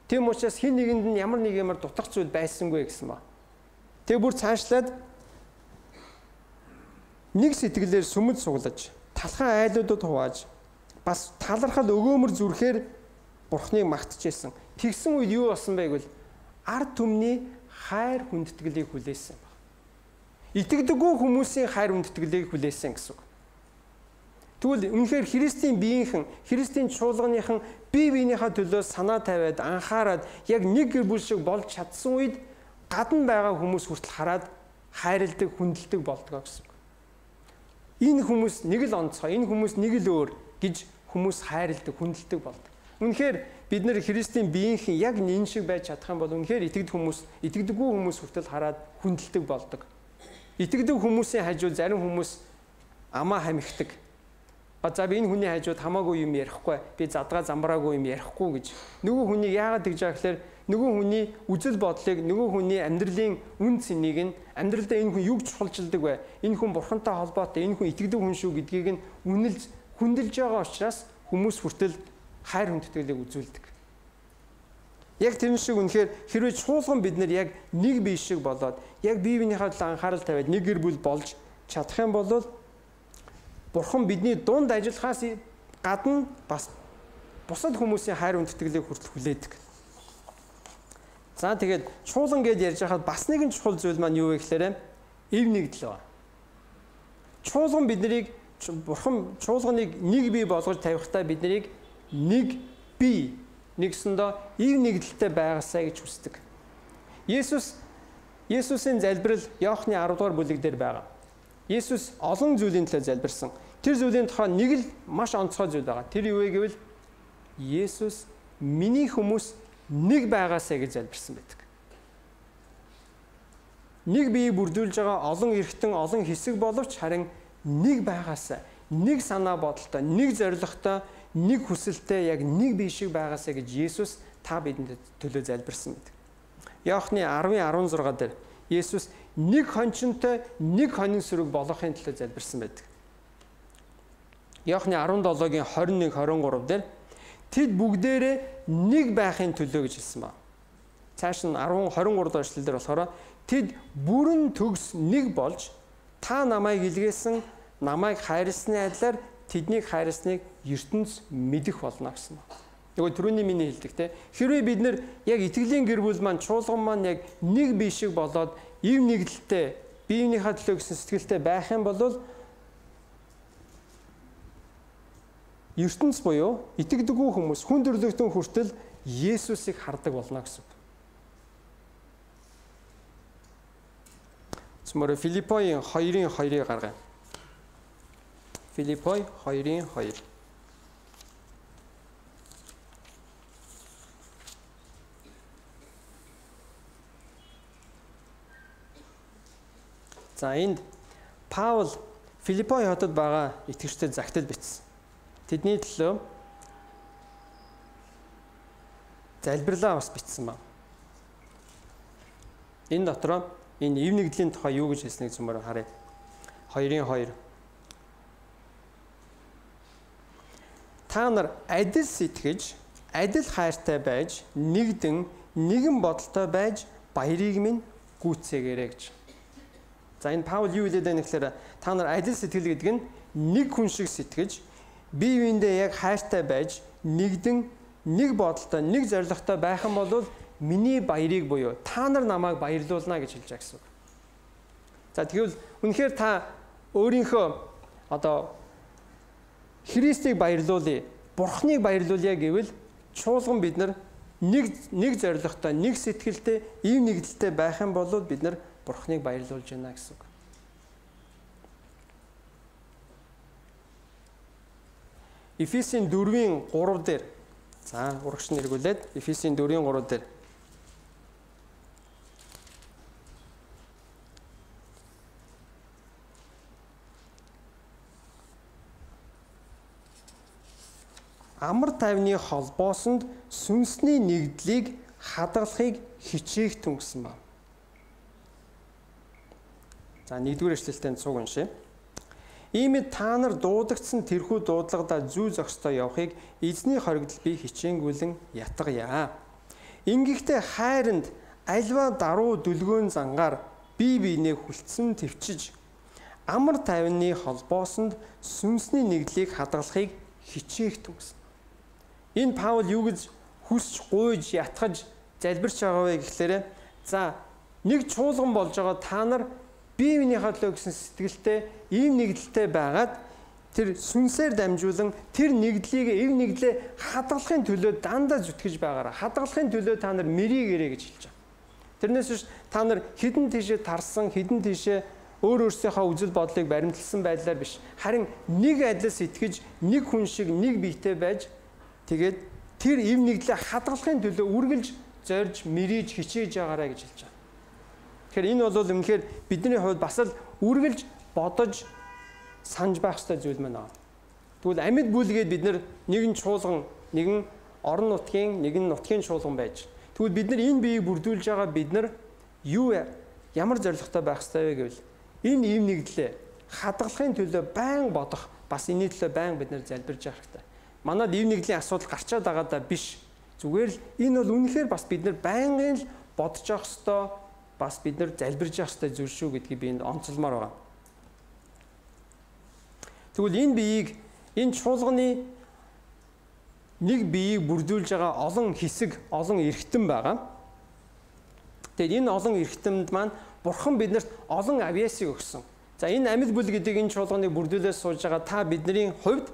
Тэм учраас хэн нэгэнд нь ямар нэг юмар дутах зүйл байсангүй гэсэн ба. Тэг бүр цаашлаад нэг сэтгэлээр сүмд суглаж, талхай айлуудад хувааж, бас талархал өгөөмөр зүрхээр Бурхныг магтажсэн. Тэгсэн үед юу болсон бэ гэвэл ард түмний хайр хүндэтгэлийг хүлээсэн баг. Итгэдэггүй хүмүүсийн хайр хүндэтгэлийг хүлээсэн гэсэн үг. Тэгвэл үнэхээр Христийн биеийнхэн, Христийн чуулганыхан бие биенийхээ төлөө санаа тавиад, анхаарад яг нэг гэр бүл шиг болж чадсан үед гадна байгаа хүмүүс хүртэл хараад хайрладаг, хүндэлдэг болдгоо гэсэн үг. Энэ хүмүүс нэг л онцгой, энэ хүмүүс нэг л өөр гэж хүмүүс хайрладаг, хүндэлдэг болдог. Үнэхээр бид нэр Христийн биеийнхэн яг энэ шиг байж чадах юм бол үнэхээр итгэдэг хүмүүс, итгэдэггүй хүмүүс хүртэл хараад хүндэлдэг болдог. Итгэдэг хүмүүсийн хажууд зарим хүмүүс амаа хамигдаг. А за би энэ хүний хажууд хамаагүй юм ярихгүй, би задгаа замбраагүй юм ярихгүй гэж. Нөгөө хүний яагаад тэгж байгаа гэхээр нөгөө хүний үзэл бодлыг, нөгөө хүний амьдралын үн цэнийг нь амьдралдаа энэ хүн юг чухалчилдаг вэ? Энэ хүн бурхантай холбоотой, энэ хүн итгэдэг хүн шүү гэдгийг нь үнэлж хүндэлж байгаа учраас хүмүүс хүртэл хайр хүндэтгэлийг үзүүлдэг. Яг тэр шиг үнэхээр хэрвээ чуулган бид нар яг нэг бие шиг болоод яг бие биенийхээ талаар анхаарал тавиад нэг гэр бүл болж чадах юм бол Бурхан бидний дунд ажиллахаас гадна бас бусад хүмүүсийн хайр хүндэтгэлийг хүртэл хүлээдэг. За тэгээд чуулган гэж ярьж байхад бас нэгэн чухал зүйл маань юу вэ гэхээр эв нэгдэл ба. Чуулган биднийг Бурхан чуулганыг нэг бие болгож тавихтаа биднийг нэг бие нэгсэндээ эв нэгдэлтэй байгаасаа гэж хүсдэг. Есүс Есүсийн залбирал Иохны арав дугаар бүлэг дээр байгаа. Есүс олон зүйлийн төлөө залбирсан. Тэр зүйлийн тухай нэг л маш онцгой зүйл байгаа. Тэр юу вэ гэвэл Есүс миний хүмүүс нэг байгаасаа гэж залбирсан байдаг. Нэг биеийг бүрдүүлж байгаа олон эргэтэн, олон хэсэг боловч харин нэг байгаасаа, нэг санаа бодолтой, нэг зорилготой, нэг хүсэлтэй яг нэг бие шиг байгаасаа гэж Есүс та бидэнд төлөө залбирсан байдаг. Иохны арвын арван зургаа дээр Есүс нэг хончинтой, нэг хонин сүрэг болохын төлөө залбирсан байдаг. Иохны арван долоогийн хорин нэг хорин гурав дээр тэд бүгдээрээ нэг байхын төлөө гэж хэлсэн ба. Цааш нь арван хорин гурав дахь эшлэл дээр болохоор тэд бүрэн төгс нэг болж та намайг илгээсэн, намайг хайрлсны адилаар тэднийг хайрлсныг ертөнц мэдэх болно гэсэн ба. Нөгөө түрүүний миний хэлдэг те. Хэрвээ бид нэр яг итгэлийн гэр бүл маань чуулган маань яг нэг бие шиг болоод ив нэгдэлтэй, биенийхээ төлөө гэсэн сэтгэлтэй байх юм бол ертөнц буюу итгэдэггүй хүмүүс хүн төрлөختөн хүртэл Есүсийг хардаг болно гэсэн. Цөмөр Филиппоийн хоёрын хоёрыг гаргая. Филиппой хоёрын хоёр. За энд Паул Филиппой хотод байгаа итгэгчдэд загтал бичсэн. Тэдний төлөө залбирлаа бас бичсэн байна. Энэ дотроо энэ ив нэгдлийн тухай юу гэж хэлснийг зөмөр харъя. хоёрын хоёр. Та нар адил сэтгэж, адил хайртай байж, нэгдэн, нэгэн бодолтой байж баярыг минь гүйцээгээрэй гэж. За энэ Паул юу хэлээд байна гэхээр та нар адил сэтгэл гэдэг нь нэг хүн шиг сэтгэж, бие биендээ яг хайртай байж, нэгдэн, нэг бодолтой, нэг зорилготой байх юм бол миний баярыг буюу та нар намайг баярлуулна гэж хэлж байгаа гэсэн үг. За тэгвэл үнэхээр та өөрийнхөө одоо Христийг баярлуулъя, Бурхныг баярлуулъя гэвэл чуулган бид нар нэг нэг зорилготой, нэг сэтгэлтэй, ив нэгдэлтэй байх юм бол бид нар Бурхныг баярлуулж байна гэсэн үг. Ефесийн дөрвийн гурав дээр за урагш нь эргүүлээд Ефесийн дөрвийн гурав дээр амар тайвны холбоосонд сүнсний нэгдлийг хадгалахыг хичээх түн гэсэн байна. За нэгдүгээр эшлэлтэй цуг уншъя. Иймд та нар дуудагдсан тэрхүү дуудлагадаа зүй зохистой явахыг эзний хоригдол би хичээнгүйлэн ятгая. Ингэхдээ хайранд альва даруу дүлгөөн зангаар бие биенээ хүлцэн твчиж амар тайвны холбоосонд сүнсний нэгдлийг хадгалахыг хичээх түн гэсэн. Энэ Паул юу гэж хүсч гуйж ятгаж залбирч байгаа вэ гэхлээрэ за нэг чуулган болж байгаа та нар бие биенийхээ төлөө гэсэн сэтгэлтэй ийм нэгдэлтэй байгаад тэр сүнсээр дамжуулан тэр нэгдлийг эв нэгдлээ хадгалахын төлөө дандаа зүтгэж байгаараа хадгалахын төлөө та нар мэрийгээрэй гэж хэлж байгаа. Тэрнээс биш та нар хідэн тийшээ тарсан хідэн тийшээ өөр өөрсдийнхөө үзэл бодлыг баримтлсан байдлаар биш харин нэг адил сэтгэж нэг хүн шиг нэг биетэй байж тэгээд тэр эв нэгдлээ хадгалахын төлөө үргэлж зорж, мэрийж, хичээж байгаарай гэж хэлж байгаа. Тэгэхээр энэ бол үнэхээр бидний хувьд бас л үргэлж бодож санаж байх ёстой зүйл маань аа. Тэгвэл амьд бүлгээд бид нэг нь чуулган, нэг нь орон нутгийн, нэг нь нутгийн чуулган байж. Тэгвэл бид нар энэ биеийг бүрдүүлж байгаа бид нар юу ямар зорилготой байх ёстой вэ гэвэл энэ эв нэгдлээ хадгалахын төлөө байн бодох, бас энэ төлөө байн бид нар залбирж явах хэрэгтэй. Манайд эв нэгдлийн асуудал гарчаад байгаа даа биш. Зүгээр л энэ бол үнэхээр бас бид нар байнгын л бодож явах ёстой, бас бид нар залбирж явах ёстой зүйл шүү гэдгийг би энд онцолмоор байгаа. Тэгвэл энэ биеийг, энэ чуулганы нэг биеийг бүрдүүлж байгаа олон хэсэг, олон эрхтэн байгаа. Тэгээд энэ олон эрхтэнд маань Бурхан биднэрт олон авьяасыг өгсөн. За энэ амьд бүл гэдэг энэ чуулганыг бүрдүүлээд сууж байгаа та бидний хувьд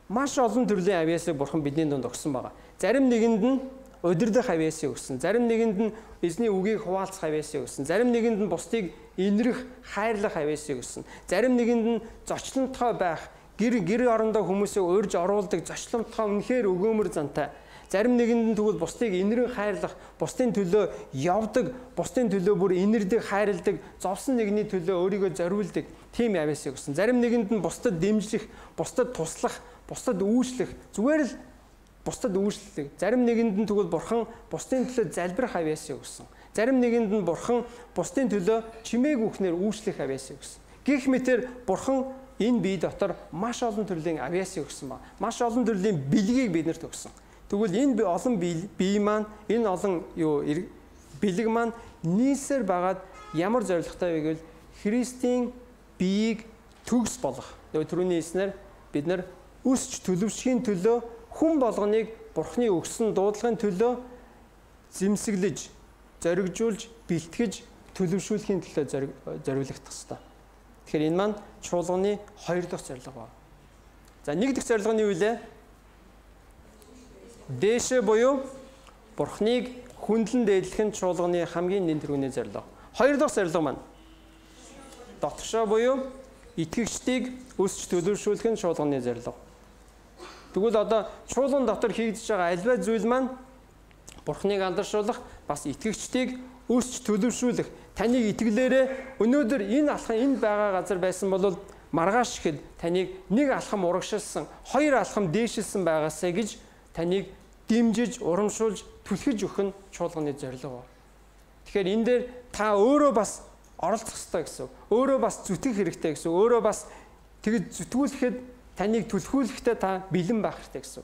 маш олон төрлийн авьяасыг Бурхан бидний дунд өгсөн байгаа. Зарим нэгэнд нь удирдах авьяасыг өгсөн, зарим нэгэнд нь эзний үгийг хуваалцах авьяасыг өгсөн, зарим нэгэнд нь бусдыг инэрх, хайрлах авьяасыг өгсөн, зарим нэгэнд нь зочлонтгой байх, гэр гэр орондоо хүмүүсийг урьж оруулдаг зочлонтгой үнэхээр өгөөмөр зантай. Зарим нэгэнд нь тэгвэл бусдыг инэрэн хайрлах, бусдын төлөө явдаг, бусдын төлөө бүр инэрдэг, хайрладаг, зовсон нэгний төлөө өөрийгөө зориулдаг тийм авьяасыг өгсөн. Зарим нэгэнд нь бусдад дэмжих, бусдад туслах, бусдад үүшлэх, зүгээр л бусдад үүшлэх. Зарим нэгэнд нь тэгвэл Бурхан бусдын төлөө залбирах авьяасыг өгсөн. Зарим нэгэнд нь Бурхан бусдын төлөө чимээг үхнээр үүшлэх авьяасыг өгсөн. Гэх мэтэр Бурхан энэ бие дотор маш олон төрлийн авьяасыг өгсөн ба маш олон төрлийн бэлгийг биднэрт өгсөн. Тэгвэл энэ олон бие маань, энэ олон юу бэлэг маань нийсээр байгаад ямар зорилготой вэ гэвэл Христийн биеийг төгс болгох. Түрүүний хэлснээр бид нар өсч төлөвшхийн төлөө хүн болгоныг Бурханы өгсөн дуудлагын төлөө зэмсэглэж, зоригжуулж, бэлтгэж, төлөвшүүлэхийн төлөө зориулагдах ёстой. Тэгэхээр энэ маань чуулганы хоёр дахь зорилго байна. За нэг дахь зорилго нь юу вэ? Дээшээ буюу Бурхныг хүндлэн дээдлэх нь чуулганы хамгийн нэн тэргүүний зорилго. Хоёр дахь зорилго маань дотгошоо буюу итгэгчдийг өсч төлөвшүүлэх нь чуулганы зорилго. Тэгвэл одоо чуулган дотор хийгдэж байгаа альва зүйл маань Бурхныг алдаршуулах, бас итгэгчдийг өсч төлөвшүүлэх. Таныг итгэлээрээ өнөөдөр энэ алхам энд байгаа газар байсан бол маргааш ихэд таныг нэг алхам урагшилсан, хоёр алхам дээшилсэн байгаасаа гэж таныг дэмжиж, урамшуулж, түлхэж өгөх нь чуулганы зорилго. Тэгэхээр энэ дээр та өөрөө бас оролцох ёстой гэсэн. Өөрөө бас зүтгэх хэрэгтэй гэсэн. Өөрөө бас тэгж зүтгүүлэхэд таныг түлхүүлэхдээ та бэлэн байх хэрэгтэй гэсэн.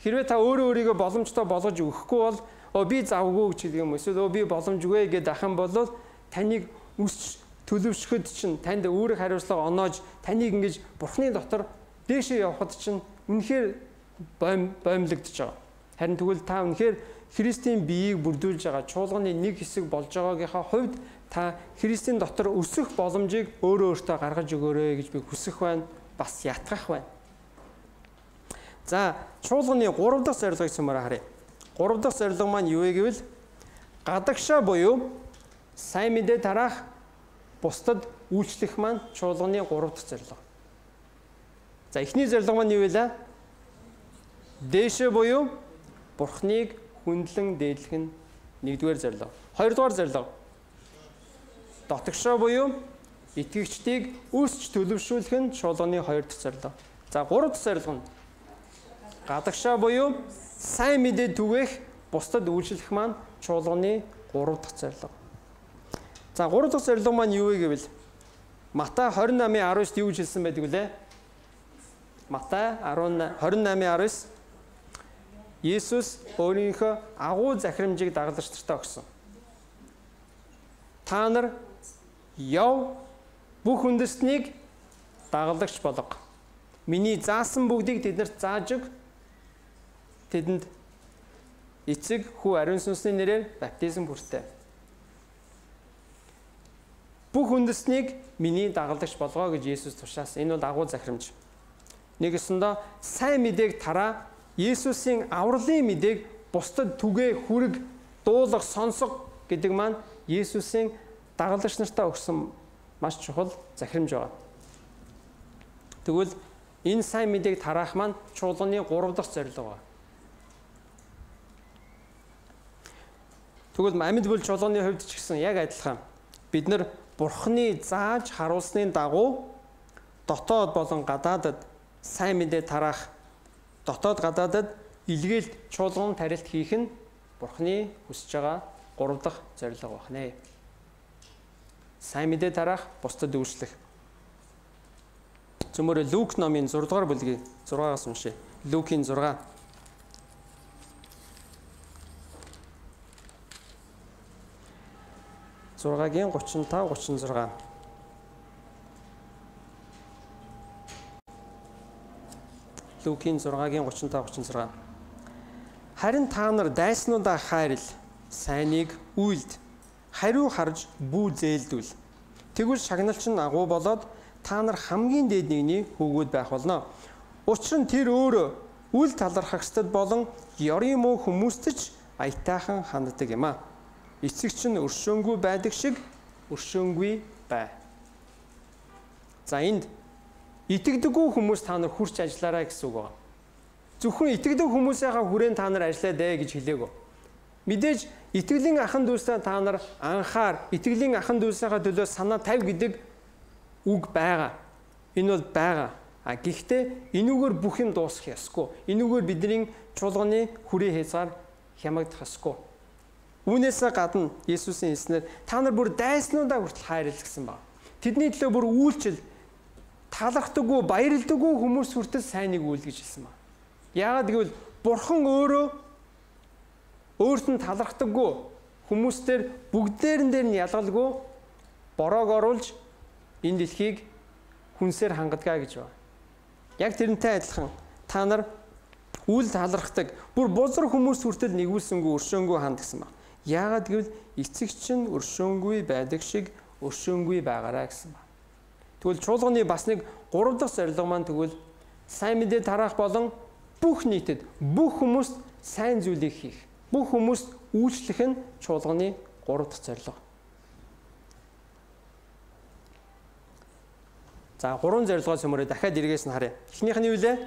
Хэрвээ та өөрөө өөрийгөө боломжтой болгож өгөхгүй бол оо би завгүй гэж хэлэх юм эсвэл оо би боломжгүй гэдээ ахын бол таныг үсч төлөвшөхөд чинь танд өөрөг хариуцлага оноож таныг ингэж Бурхны дотор дээшээ явахад чинь үнэхээр бойм боомлогдож байгаа. Харин тэгвэл та үнэхээр Христийн биеийг бүрдүүлж байгаа чуулганы нэг хэсэг болж байгаагийнхаа хувьд та Христийн дотор өсөх боломжийг өөрөө өөртөө гаргаж өгөөрэй гэж би хүсэх байна, бас ятгах байна. За, чуулганы гурав дахь зорилгыг цөмөрө харъя. гурав дахь зорилго маань юу вэ гэвэл гадагшаа буюу сайн мэдээ тараах, бусдад үйлчлэх маань чуулганы гурав дахь зорилго. За, эхний зорилго маань юу вэ? Дээшээ буюу Бурхныг хүндлэн дээдлэх нь нэгдүгээр зорилго. Хоёрдугаар зорилго дотгошоо буюу итгэгчдийг өсч төлөвшүүлэх нь чуулганы хоёр дахь зорилго. За, гурав дахь зорилго нь гадагшаа буюу сайн мэдээ түгээх, бусдад үйлчлэх маань чуулганы гурав дахь зорилго. За, гурав дахь зорилго маань юу вэ гэвэл Матай двадцать восемь десять юу гэж хэлсэн байдаг вүлээ? Матай двадцать восемь десять Есүс өөрийнхөө агуу захирамжийг дагалдагч нартаа өгсөн. Та нар яв бүх үндэстнийг дагалдагч болго. Миний заасан бүгдийг тэднэрт зааж өг. Тэдэнд эцэг, хүү, ариун сүнсний нэрээр баптизм хүртээ. Бүх үндэстнийг миний дагалдагч болгоо гэж Есүс тушаасан. Энэ бол агуу захирамж. Нэгэсэндээ сайн мэдээг тараа, Есүсийн авралын мэдээг бусдад түгээ, хүрэг, дуулах, сонсох гэдэг маань Есүсийн дагалдагч нартаа өгсөн маш чухал захирамж байна. Тэгвэл энэ сайн мэдээг тараах маань чуулганы гурав дахь зорилго байна. Тэгвэл амьд бүл чуулганы хувьд ч гэсэн яг адилхан. Бид нар Бурхны зааж харуулсны дагуу дотоод болон гадаадад сайн мэдээ тараах, дотоод гадаадад илгээлт чуулган тарилт хийх нь Бурхны хүсэж байгаа гурав дахь зорилго байна. Сайн мэдээ тараах, бусдад үйлчлэх. Цөмөр Лук номын зураг дугаар бүлгийн зургаас уншъя. Лукийн зураг. зургагийн гучин тав гучин зураг. Лукийн зургагийн гучин тав гучин зураг. Харин та нар дайснуудаа хайрл, сайныг үйлд, хариу харж бүү зээлдүүл. Тэгвэл шагналч нь агуу болоод та нар хамгийн дээд нэгний хөвгүүд байх болно. Учир нь тэр өөрөө үл талархагчдад болон ёрын муу хүмүүст ч аятайхан ханддаг юм а. Эцэгч нь өршөөнгүй байдаг шиг өршөөнгүй бай. За энд итгэдэггүй хүмүүс та нар хурц ажиллаарай гэсэн үг байна. Зөвхөн итгэдэг хүмүүсийнхаа хүрээнд та нар ажиллаад ээ гэж хэлээгөө. Мэдээж итгэлийн ахан дүүсээ та нар анхаар, итгэлийн ахан дүүсийнхаа төлөө санаа тавь гэдэг үг байгаа. Энэ бол байгаа. А гэхдээ энүүгээр бүх юм дуусах ёсгүй. Энүүгээр бидний чуулганы хүрээ хязгаар хямагдах ёсгүй. Үүнээс гадна Есүсийн хэлснээр та нар бүр дайснуудаа хүртэл хайрлал гэсэн баг. Тэдний төлөө бүр үйлчил талархдаггүй, баярлдаггүй хүмүүс хүртэл сайныг үйл гэж хэлсэн баг. Яагаад гэвэл Бурхан өөрөө өөрт нь талархдаггүй хүмүүстээр бүгдээрэн дээр нь ялгалгүй бороог оруулж энэ дэлхийг хүнсээр хангадгаа гэж байна. Яг тэрнтэй адилхан та нар үл талархдаг, бүр бузар хүмүүс хүртэл нэгүүлсэнгүй өршөөнгүй ханд гэсэн байна. Яагаад гэвэл эцэгч нь өршөөнгүй байдаг шиг өршөөнгүй байгаарай гэсэн байна. Тэгвэл чуулганы бас нэг гурав дахь зорилго маань тэгвэл сайн мэдээ тараах болон бүх нийтэд, бүх хүмүүст сайн зүйлийг хийх, бүх хүмүүст үйлчлэх нь чуулганы гурав дахь зорилго. За гурван зорилгоо цөмөрөө дахиад эргээс нь харъя. Эхнийх нь юу вэ?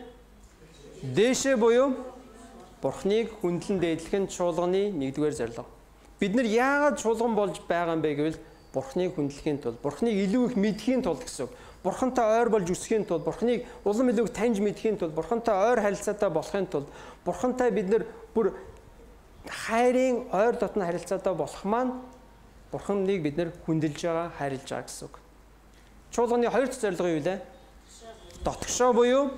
Дээшээ буюу Бурхныг хүндлэн дээдлэх нь чуулганы нэгдүгээр зорилго. Бид нар яагаад чуулган болж байгаа юм бэ гэвэл Бурхныг хүндлэхийн тулд, Бурхныг илүү их мэдхийн тулд гэсэн үг. Бурхантай ойр болж өсөхийн тулд, Бурхныг улам илүү таньж мэдхийн тулд, Бурхантай ойр харилцаатай болохын тулд, Бурхантай бид нар бүр хайрын ойр дотны харилцаатай болох маань Бурханыг бид нар хүндэлж байгаа, хайрлаж байгаа гэсэн үг. Чуулганы хоёр дахь зорилго юу вэ? Дотгошоо буюу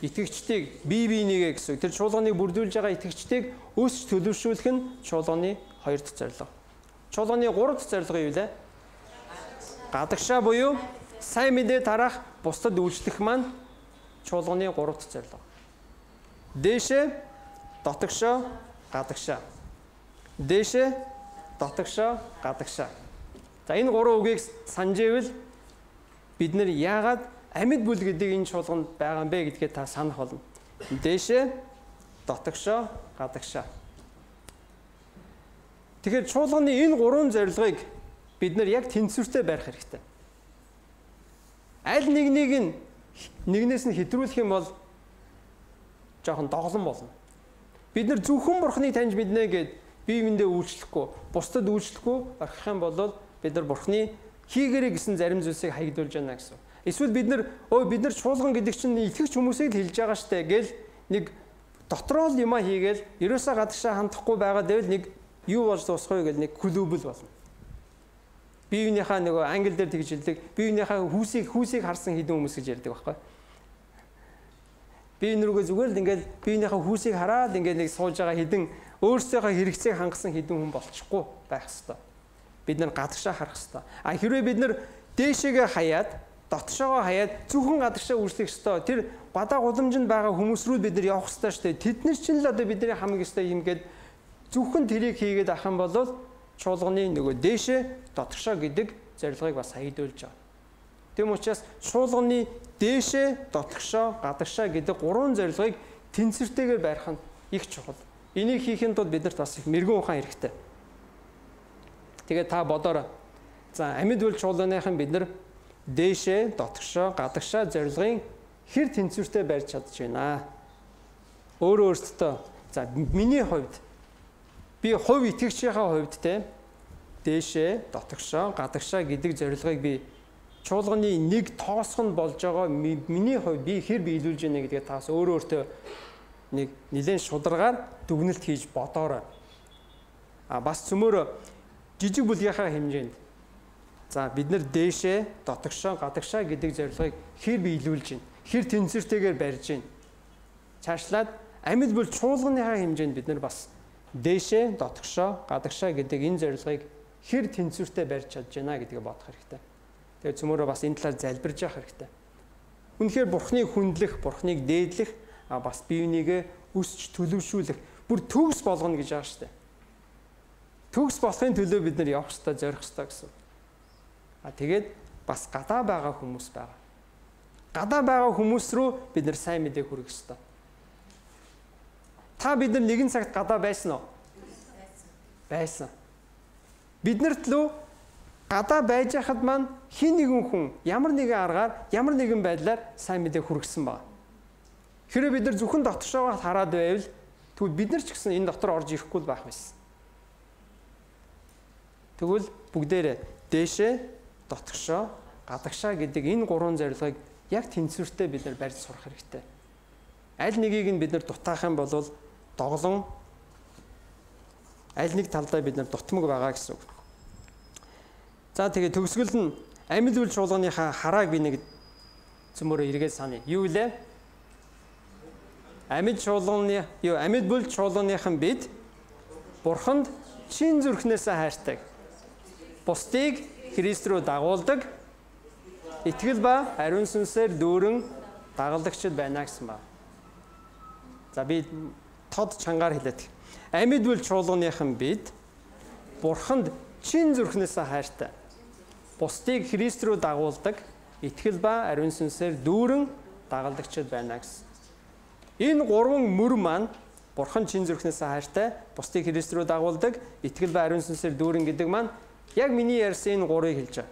итгэгчдийг бие биенийгээ гэсэн. Тэр чуулганыг бүрдүүлж байгаа итгэгчдийг өсч төлөвшүүлэх нь чуулганы хоёр дахь зорилго. Чуулганы гурав дахь зорилго юу вэ? Гадагшаа буюу сайн мэдээ тараах, бусдад үйлчлэх маань чуулганы гурав дахь зорилго. Дээшээ дотгошоо, гадагшаа. Дээшээ дотгошоо, гадагшаа. За энэ гурван үгийг санджээвэл бид нэр яагаад амьд бүл гэдэг энэ чуулганд байгаа юм бэ гэдгээ та санах болно. Дээшээ дотгошоо, гадагшаа. Тэгэхээр чуулганы энэ гурван зорилгыг бид нар яг тэнцвэртэй барих хэрэгтэй. Аль нэгнийг нь нэгнээс нь хэтрүүлэх юм бол жоохон доголон болно. Бид нар зөвхөн Бурхныг таньж мэднэ гэд бие биендээ үйлчлэхгүй, бусдад үйлчлэхгүй орхих юм бол бид нар Бурхны хийгэрэй гэсэн зарим зүйлсийг хаягдуулж байна гэсэн. Эсвэл бид нар өө бид нар чуулган гэдэг чинь итгэгч хүмүүсийг л хэлж байгаа штэ гэл нэг дотроо л юма хийгээл ерөөсөө гадагшаа хандахгүй байгаа дэвэл нэг юу болж дуусах вэ гэл нэг клубл болно. Биеийнхаа нөгөө англи дээр тэгж хэлдэг. Биеийнхаа хүүсийг хүүсийг харсан хэдэн хүмүүс гэж ярьдаг байхгүй. Би нүргөө зүгээр л ингээл биеийнхаа хүүсийг хараад ингээл нэг сууж байгаа хэдэн өөрсдийнхөө хэрэгцээг хангасан хэдэн хүн болчихгүй байх хэвээр. Бид нар гадагшаа харах хэвээр. А хэрвээ бид нар дээшээгээ хаяад, дотшоогоо хаяад зөвхөн гадагшаа үржих хэвээр. Тэр гадаа гудамжинд байгаа хүмүүс рүү бид нар явах хэвээр шүү дээ. Тэднэр чинь л одоо бидний хамгийн өстой юм гээд зөвхөн тэрийг хийгээд ах юм бол чуулганы нөгөө дээшээ дотгошоо гэдэг зорилгыг бас хаягдуулж байгаа. Тэм учраас чуулганы дээшээ дотгошоо гадагшаа гэдэг гурван зорилгыг тэнцвэртэйгээр барих нь их чухал. Энийг хийхэд тулд биднэрт бас их мэрэгэн ухаан хэрэгтэй. Тэгээд та бодоорой. За амьд бүл чуулганыхан бид нар дээшээ дотгошоо гадагшаа зорилгын хэр тэнцвэртэй барьж чадж байна. Өөрөө өөртөө за миний хувьд би хувь итгэгчийнхаа хувьд те дээшээ, дотогшоо, гадагшаа гэдэг зорилгыг би чуулганы нэг тоосгонд болж байгаа миний хувьд би хэр биелүүлж байна гэдгээ таас өөрөө өөртөө нэг нэлээд шударгаар дүгнэлт хийж бодоорой. А бас цөмөр жижиг бүлгийнхаа хэмжээнд за бид нар дээшээ, дотогшоо, гадагшаа гэдэг зорилгыг хэр биелүүлж байна, хэр тэнцвэртэйгээр барьж байна. Цаашлаад амьд бол чуулганыхаа хэмжээнд бид нар бас дээшээ, дотогшоо, гадагшаа гэдэг энэ зорилгыг хэр тэнцвэртэй барьж чадж байна гэдгийг бодох хэрэгтэй. Тэгээд цөмөрөө бас энэ талаар залбирж явах хэрэгтэй. Үнэхээр Бурхныг хүндлэх, Бурхныг дээдлэх, а бас биенийгээ өсч төлөвшүүлэх, бүр төгс болгоно гэж байгаа шүү дээ. Төгс болохын төлөө бид нар явах хэрэгтэй, зорих хэрэгтэй гэсэн. А тэгээд бас гадаа байгаа хүмүүс байгаа. Гадаа байгаа хүмүүс рүү бид нар сайн мэдээ хүргэх хэрэгтэй. Та бид нар нэгэн цагт гадаа байсан уу? Байсан. Биднэрт лөө гадаа байж хахад маань хин нэгэн хүн ямар нэгэн аргаар, ямар нэгэн байдлаар сайн мэдээ хүргэсэн байна. Хэрэв бид нар зөвхөн дотгошоогоо хараад байвал тэгвэл бид нар ч гэсэн энэ дотор орж ирэхгүй л байх байсан. Тэгвэл бүгдээрээ дээшээ, дотгошоо, гадагшаа гэдэг энэ гурван зорилгыг яг тэнцвэртэй бид нар барьж сурах хэрэгтэй. Аль нэгийг нь бид нар дутаах юм бол доглон аль нэг талдаа бид нар дутмаг байгаа гэсэн үг. За тэгээ төгсгөл нь амьд үйл чуулганыхаа харааг би нэг цөмөрөө эргээд саная. Юу вэ? Амьд чуулганы юу амьд бүл чуулганыхан бид Бурханд чин зүрхнээсээ хайртай. Бусдыг Христ рүү дагуулдаг, итгэл ба ариун сүнсээр дүүрэн дагалдагчд байна гэсэн ба. За би тод чангаар хэлээд. Амьд бүл чуулганыхан бид Бурханд чин зүрхнээсээ хайртай. Бусдыг Христ рүү дагуулдаг, итгэл ба ариун сүнсээр дүүрэн дагалдагчд байна гэсэн. Энэ гурван мөр маань Бурхан чин зүрхнээсээ хайртай, бусдыг Христ рүү дагуулдаг, итгэл ба ариун сүнсээр дүүрэн гэдэг маань яг миний ярьсан энэ гурыг хэлж байгаа.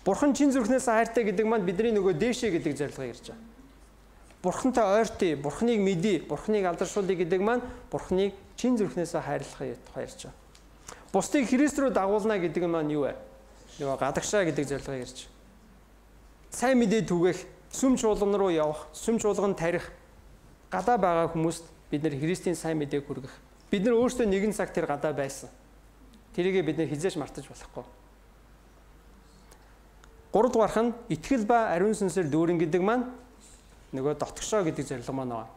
Бурхан чин зүрхнээсээ хайртай гэдэг маань бидний нөгөө дээшээ гэдэг зорилгыг ярьж байгаа. Бурхантай ойртъя, Бурханыг мэдье, Бурханыг алдаршуулъя гэдэг маань Бурханыг чин зүрхнээсээ хайрлахыг тухай ярьж байгаа. Бусдыг Христ рүү дагуулна гэдэг нь маань юу вэ? Нөгөө гадагшаа гэдэг зорилгыг ярьж байгаа. Сайн мэдээ түгэх, сүм чуулган руу явах, сүм чуулган тарих, гадаа байгаа хүмүүст бид нэр Христийн сайн мэдээг хүргэх. Бид нар өөрсдөө нэгэн цаг тэр гадаа байсан. Тэрийгээ бид нэр хизээш мартаж болохгүй. Гуравдугаарх нь итгэл ба ариун сүнсээр дүүрэн гэдэг маань нөгөө дотгошоо гэдэг зорилго маань байна.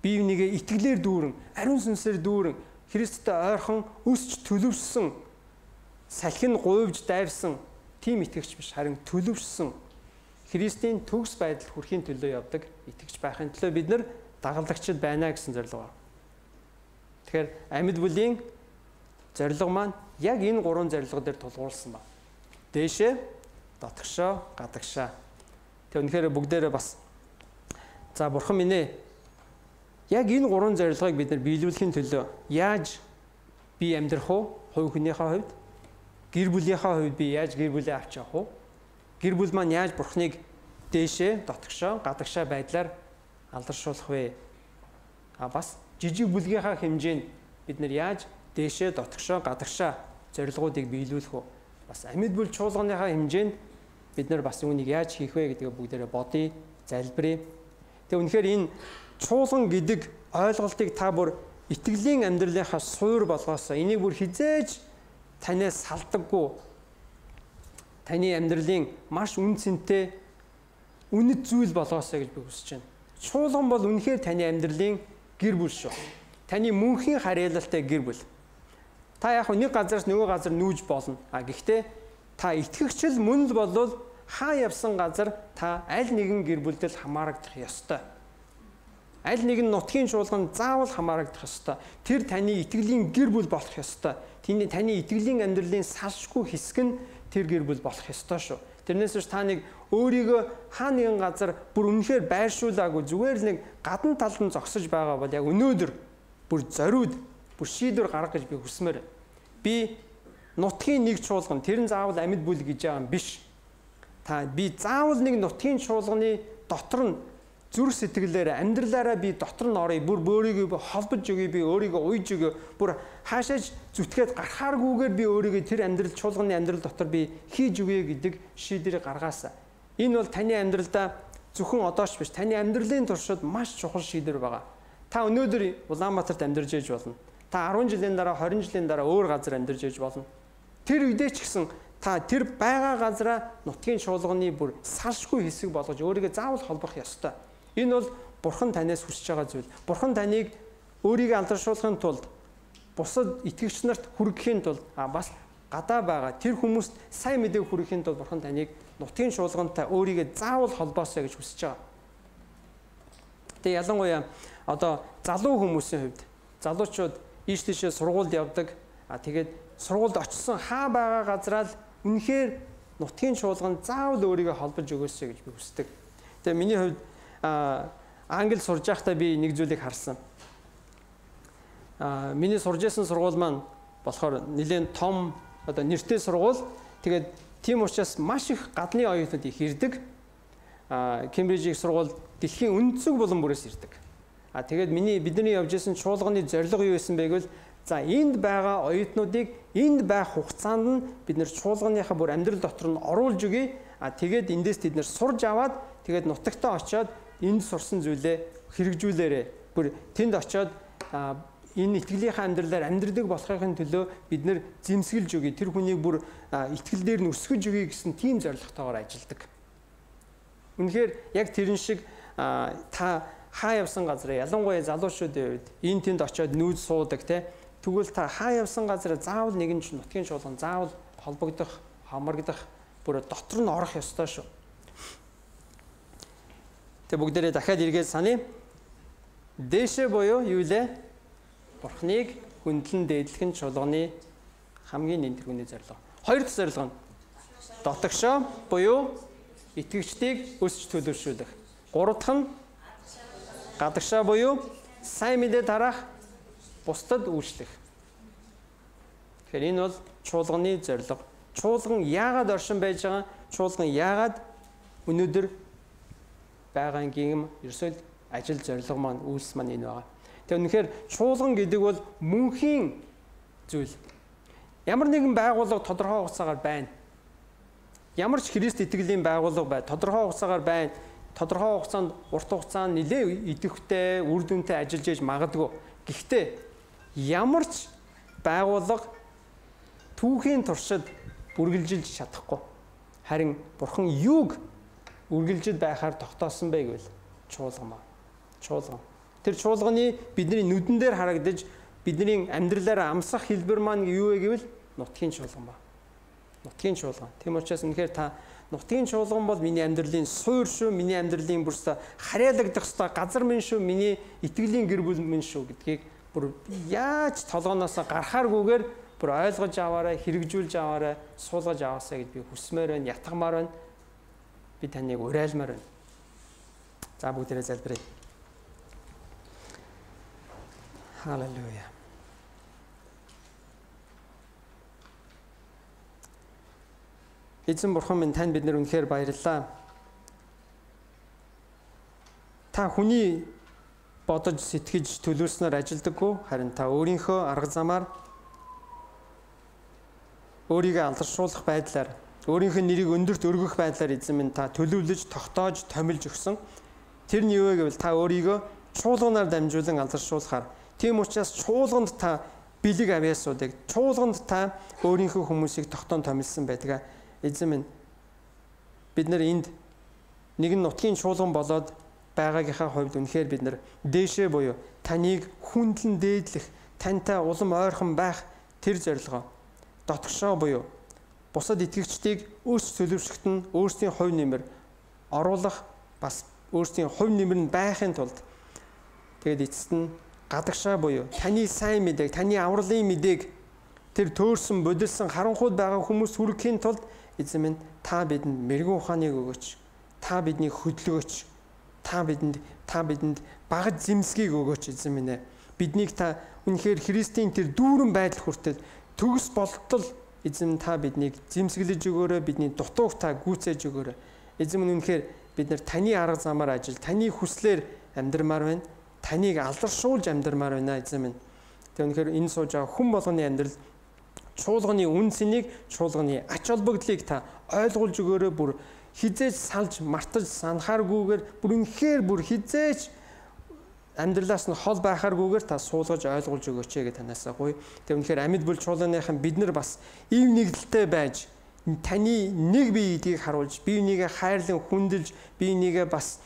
Бие бинийгээ итгэлээр дүүрэн, ариун сүнсээр дүүрэн, Христтэй ойрхон өсч төлөвшсөн, салхин гуйвж дайрсан тийм итгэгч биш, харин төлөвшсөн Христийн төгс байдал хүрхийн төлөө явдаг итгэгч байхын төлөө бид нар дагалдагчд байна гэсэн зорилго байна. Тэгэхээр амьд бүлийн зорилго маань яг энэ гурван зорилго дээр тулгуурласан байна. Дээшээ, дотгошоо, гадагшаа. Тэг үнэхээр бүгдээрээ бас за бурхан минь ээ. Яг энэ гурван зорилгыг бид нар биелүүлэхийн төлөө яаж би амьдрах вэ? Хувь хүнийхээ хувьд, гэр бүлийнхээ хувьд би яаж гэр бүлээ авч явах вэ? Гэр бүл маань яаж бурхныг дээшээ, дотгошоо, гадагшаа байдлаар алдаршуулах вэ? А бас жижиг бүлгийнхаа хэмжээнд бид нар яаж дээшээ, дотгошоо, гадагшаа зорилгоодыг биелүүлэх вэ? Бас амьд бүл чуулганыхаа хэмжээнд бид нар бас үүнийг яаж хийх вэ гэдгээ бүгдээрээ бодъё, залбирая. Тэгээ үнэхээр энэ чуулган гэдэг ойлголтыг та бүр итгэлийн амьдралынхаа суур болгоосоо энийг бүр хизээж танаас салдаггүй таны амьдралын маш үн цэнтэй үнэт зүйл болгоосоо гэж би хүсэж байна. Чуулган бол үнэхээр таны амьдралын гэр бүл шүү. Таны мөнхийн харьяалалтай гэр бүл. Та яг нэг газараас нөгөө газар нүүж болно. А гэхдээ та итгэгчл мөн л болвол хаа явсан газар та аль нэгэн гэр бүлдэл хамаарагдах ёстой. Аль нэгэн нутгийн чуулганд заавал хамаарагдах ёстой. Тэр таны итгэлийн гэр бүл болох ёстой. Тэний таны итгэлийн амьдралын салшгүй хэсэг нь тэр гэр бүл болох ёстой шүү. Тэрнээс биш та нэг өөрийгөө хаа нэгэн газар бүр үнэхээр байршуулаагүй зүгээр л нэг гадна талд нь зогсож байгаа бол яг өнөөдөр бүр зориуд бүр шийдвэр гаргах гэж би хүсмээр. Би нутгийн нэг чуулган тэр нь заавал амьд бүл гэж байгаа юм биш. Та би заавал нэг нутгийн чуулганы дотор нь зүрх сэтгэлээр амьдралаараа би дотор нь оръё, бүр өөрийгөө би холбож өгье, би өөрийгөө уйж өгье, бүр хаашааж зүтгээд гарахааргүйгээр би өөрийгөө тэр амьдрал чуулганы амьдрал дотор би хийж өгье гэдэг шийдвэрийг гаргаасаа. Энэ бол таны амьдралдаа зөвхөн одооч биш, таны амьдралын туршид маш чухал шийдвэр байгаа. Та өнөөдөр Улаанбаатарт амьдарч ээж болно. Та арван жилийн дараа, хорин жилийн дараа өөр газар амьдарч ээж болно. Тэр үедээ ч гэсэн та тэр байгаа газараа нутгийн чуулганы бүр салшгүй хэсэг болгож өөрийгөө заавал холбох ёстой. Энэ бол Бурхан танаас хүсэж байгаа зүйл. Бурхан таныг өөрийгөө алдаршуулахын тулд бусад итгэгч нарт хүргэхийн тулд а бас гадаа байгаа тэр хүмүүст сайн мэдээг хүргэхийн тулд Бурхан таныг нутгийн чуулгантай өөрийгөө заавал холбоосоо гэж хүсэж байгаа. Тэгээ ялангуяа одоо залуу хүмүүсийн хувьд залуучууд ийш тийшээ сургуульд явдаг. А тэгээд сургуульд очсон хаа байгаа газараа л үнэхээр нутгийн чуулганд заавал өөрийгөө холбож өгөөсэй гэж би хүсдэг. Тэгээ миний хувьд англи сурж байхдаа би нэг зүйлийг харсан. Аа миний сурж байсан сургууль маань болохоор нэлээд том одоо нэртэй сургууль. Тэгээд тийм учраас маш их гадны оюутнууд их ирдэг. Аа Кембрижийн сургууль дэлхийн өнцөг булан бүрээс ирдэг. Аа тэгээд миний бидний явж исэн чуулганы зорилго юу байсан бэ гэвэл за энд байгаа оюутнуудыг энд байх хугацаанд нь бид нэр чуулганыхаа бүр амьдрал дотор нь оруулж өгье. Аа тэгээд эндээс тэд нэр сурж аваад тэгээд нутагтаа очиод энд сурсан зүйлээ хэрэгжүүлээрэ. Бүр тэнд очиод энэ итгэлийнхаа амьдралаар амьдрдаг болохын төлөө бид нэр зэмсгэлж өгье. Тэр хүнийг бүр итгэл дээр нь өсгөж өгье гэсэн тийм зорилготойгоор ажилладаг. Үнэхээр яг тэрэн шиг та хаа явсан газараа ялангуяа залуучуудын үед энэ тэнд очиод нүүж суудаг те. Тэгвэл та хаа явсан газараа заавал нэгэн ч нутгийн чуулган заавал холбогдох, хамрагдах, бүр дотор нь орох ёстой шүү. Тэг бүгдээрээ дахиад эргээд саний. Дээшээ буюу юу лээ? Бурхныг хүндлэн дээдлэх нь чуулганы хамгийн нэн тэргүүний зорилго. Хоёр дахь зорилго нь дотогшоо буюу итгэгчдийг өсч төлөвшүүлэх. Гурав дахь нь гадагшаа буюу сайн мэдээ тараах, бусдад үйлчлэх. Тэгэхээр энэ бол чуулганы зорилго. Чуулган яагаад оршин байж байгаа? Чуулган яагаад өнөөдөр байгаагийн ерөөсөө ажил зорилго маань үйлс маань энэ байгаа. Тэгээ үнэхээр чуулган гэдэг бол мөнхийн зүйл. Ямар нэгэн байгууллага тодорхой хугацаагаар байна. Ямар ч Христ итгэлийн байгууллага бай, тодорхой хугацаагаар байна. Тодорхой хугацаанд урт хугацаанд нэлээ идэвхтэй, үр дүнтэй ажиллаж ээж магадгүй. Гэхдээ ямар ч байгууллага түүхийн туршид үргэлжилж чадахгүй. Харин Бурхан юуг үргэлжид байхаар тогтоосон бэ гэвэл чуулган ба. Чуулган. Тэр чуулганы бидний нүдэн дээр харагдаж бидний амьдралаараа амсах хэлбэр маань юу вэ гэвэл нутгийн чуулган ба. Нутгийн чуулган. Тийм учраас үнэхээр та нутгийн чуулган бол миний амьдралын суур шүү, миний амьдралын бүрсэ харьяалагдах ёстой газар минь шүү, миний итгэлийн гэр бүл минь шүү гэдгийг бүр яаж толгоноос гарахааргүйгээр бүр ойлгож аваарай, хэрэгжүүлж аваарай, суулгаж аваасаа гэд би хүсмээр байна, ятгамаар байна. Би таныг уриалмаар байна. За бүгдээрээ залбирая. Халелуя. Эзэн Бурхан минь танд бид нар үнэхээр баярлалаа. Та хүний бодож сэтгэж төлөвлөснөр ажилдаггүй, харин та өөрийнхөө арга замаар өөрийгөө алдаршуулах байдлаар өөрийнхөө нэрийг өндөрт өргөх байдлаар эзэн минь та төлөвлөж, тогтоож, томилж өгсөн. Тэр нь юу вэ гэвэл та өөрийгөө чуулганаар дамжуулан алдаршуулахаар. Тийм учраас чуулганд та бэлэг авьяасуудыг, чуулганд та өөрийнхөө хүмүүсийг тогтоон томилсон байдаг. Эзэн минь бид нар энд нэгэн нутгийн чуулган болоод байгаагийнхаа хувьд үнэхээр бид нар дээшээ буюу таныг хүндлэн дээдлэх, тантай улам ойрхон байх тэр зорилгоо дотгошоо буюу бусад итгэгчдийг өөрсдөө төлөвшөлт нь өөрсдийн хувь нэмэр оруулах, бас өөрсдийн хувь нэмэр нь байхын тулд тэгээд эцэст нь гадагшаа буюу таны сайн мэдээг, таны авралын мэдээг тэр төөрсөн, бодилсан, харанхуйд байгаа хүмүүс хүргэхийн тулд эзэн минь та бидэнд мэрэгэн ухааныг өгөөч. Та биднийг хөдөлгөөч. Та бидэнд та бидэнд багаж зэмсгийг өгөөч эзэн минь ээ. Биднийг та үнэхээр Христийн тэр дүүрэн байдал хүртэл төгс болтол эзэн та биднийг зэмсгэлж өгөөрэй, бидний дутууг та гүйцээж өгөөрэй. Эзэн минь үнэхээр бид нэр таны арга замаар ажил, таны хүслээр амьдрмаар байна. Таныг алдаршуулж амьдрмаар байна эзэн минь. Тэг үнэхээр энэ сууж байгаа хүн болгоны амьдрал чуулганы үн цэнийг, чуулганы ач холбогдлыг та ойлгуулж өгөөрэй. Бүр хизээж салж мартаж санахааргүйгээр бүр үнэхээр бүр хизээж амьдралаас нь хол байхааргүйгээр та суулгаж ойлгуулж өгөөч гэж танаасаа гуй. Тэг үнэхээр амьд бүл чуулганыхан бид нар бас ив нэгдэлтэй байж таны нэг бие эдийг харуулж, бие бинийгээ хайрлан хүндэлж, бие бинийгээ бас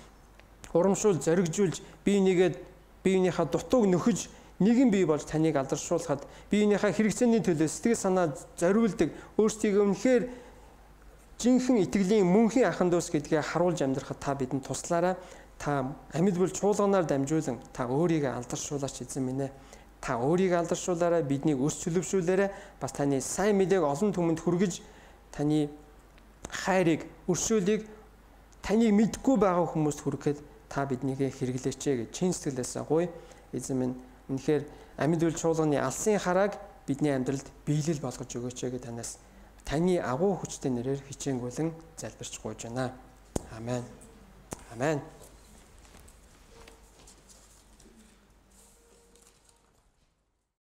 урамшуул зоригжуулж, бие бинийгээ бие бинийхээ дутууг нөхөж нэгэн бие болж таныг алдаршуулахад бие бинийхээ хэрэгцээний төлөө сэтгэл санаа зориулдаг, өөрсдийгөө үнэхээр жинхэнэ итгэлийн мөнхийн ахын дүүс гэдгээ харуулж амьдрахад та бидэнд туслаарай. Та амьд бүл чуулганаар дамжуулан та өөрийгөө алдаршуулаач эзэн минь ээ. Та өөрийгөө алдаршуулаарай, биднийг өс чөлөвшүүлээрэй. Бас таны сайн мэдээг олон түмэнд хүргэж таны хайрыг, өршөөлийг таныг мэдгүй байгаа хүмүүст хүргэхэд та биднийг хэрэглээч гэж чин сэтгэлээсээ гуй. Эзэн минь үнэхээр амьд бүл чуулганы алсын харааг бидний амьдралд биелэл болгож өгөөч гэж танаас таны агуу хүчтэй нэрээр хичээнгүйлэн залбирч гуйж байна. Амен. Амен.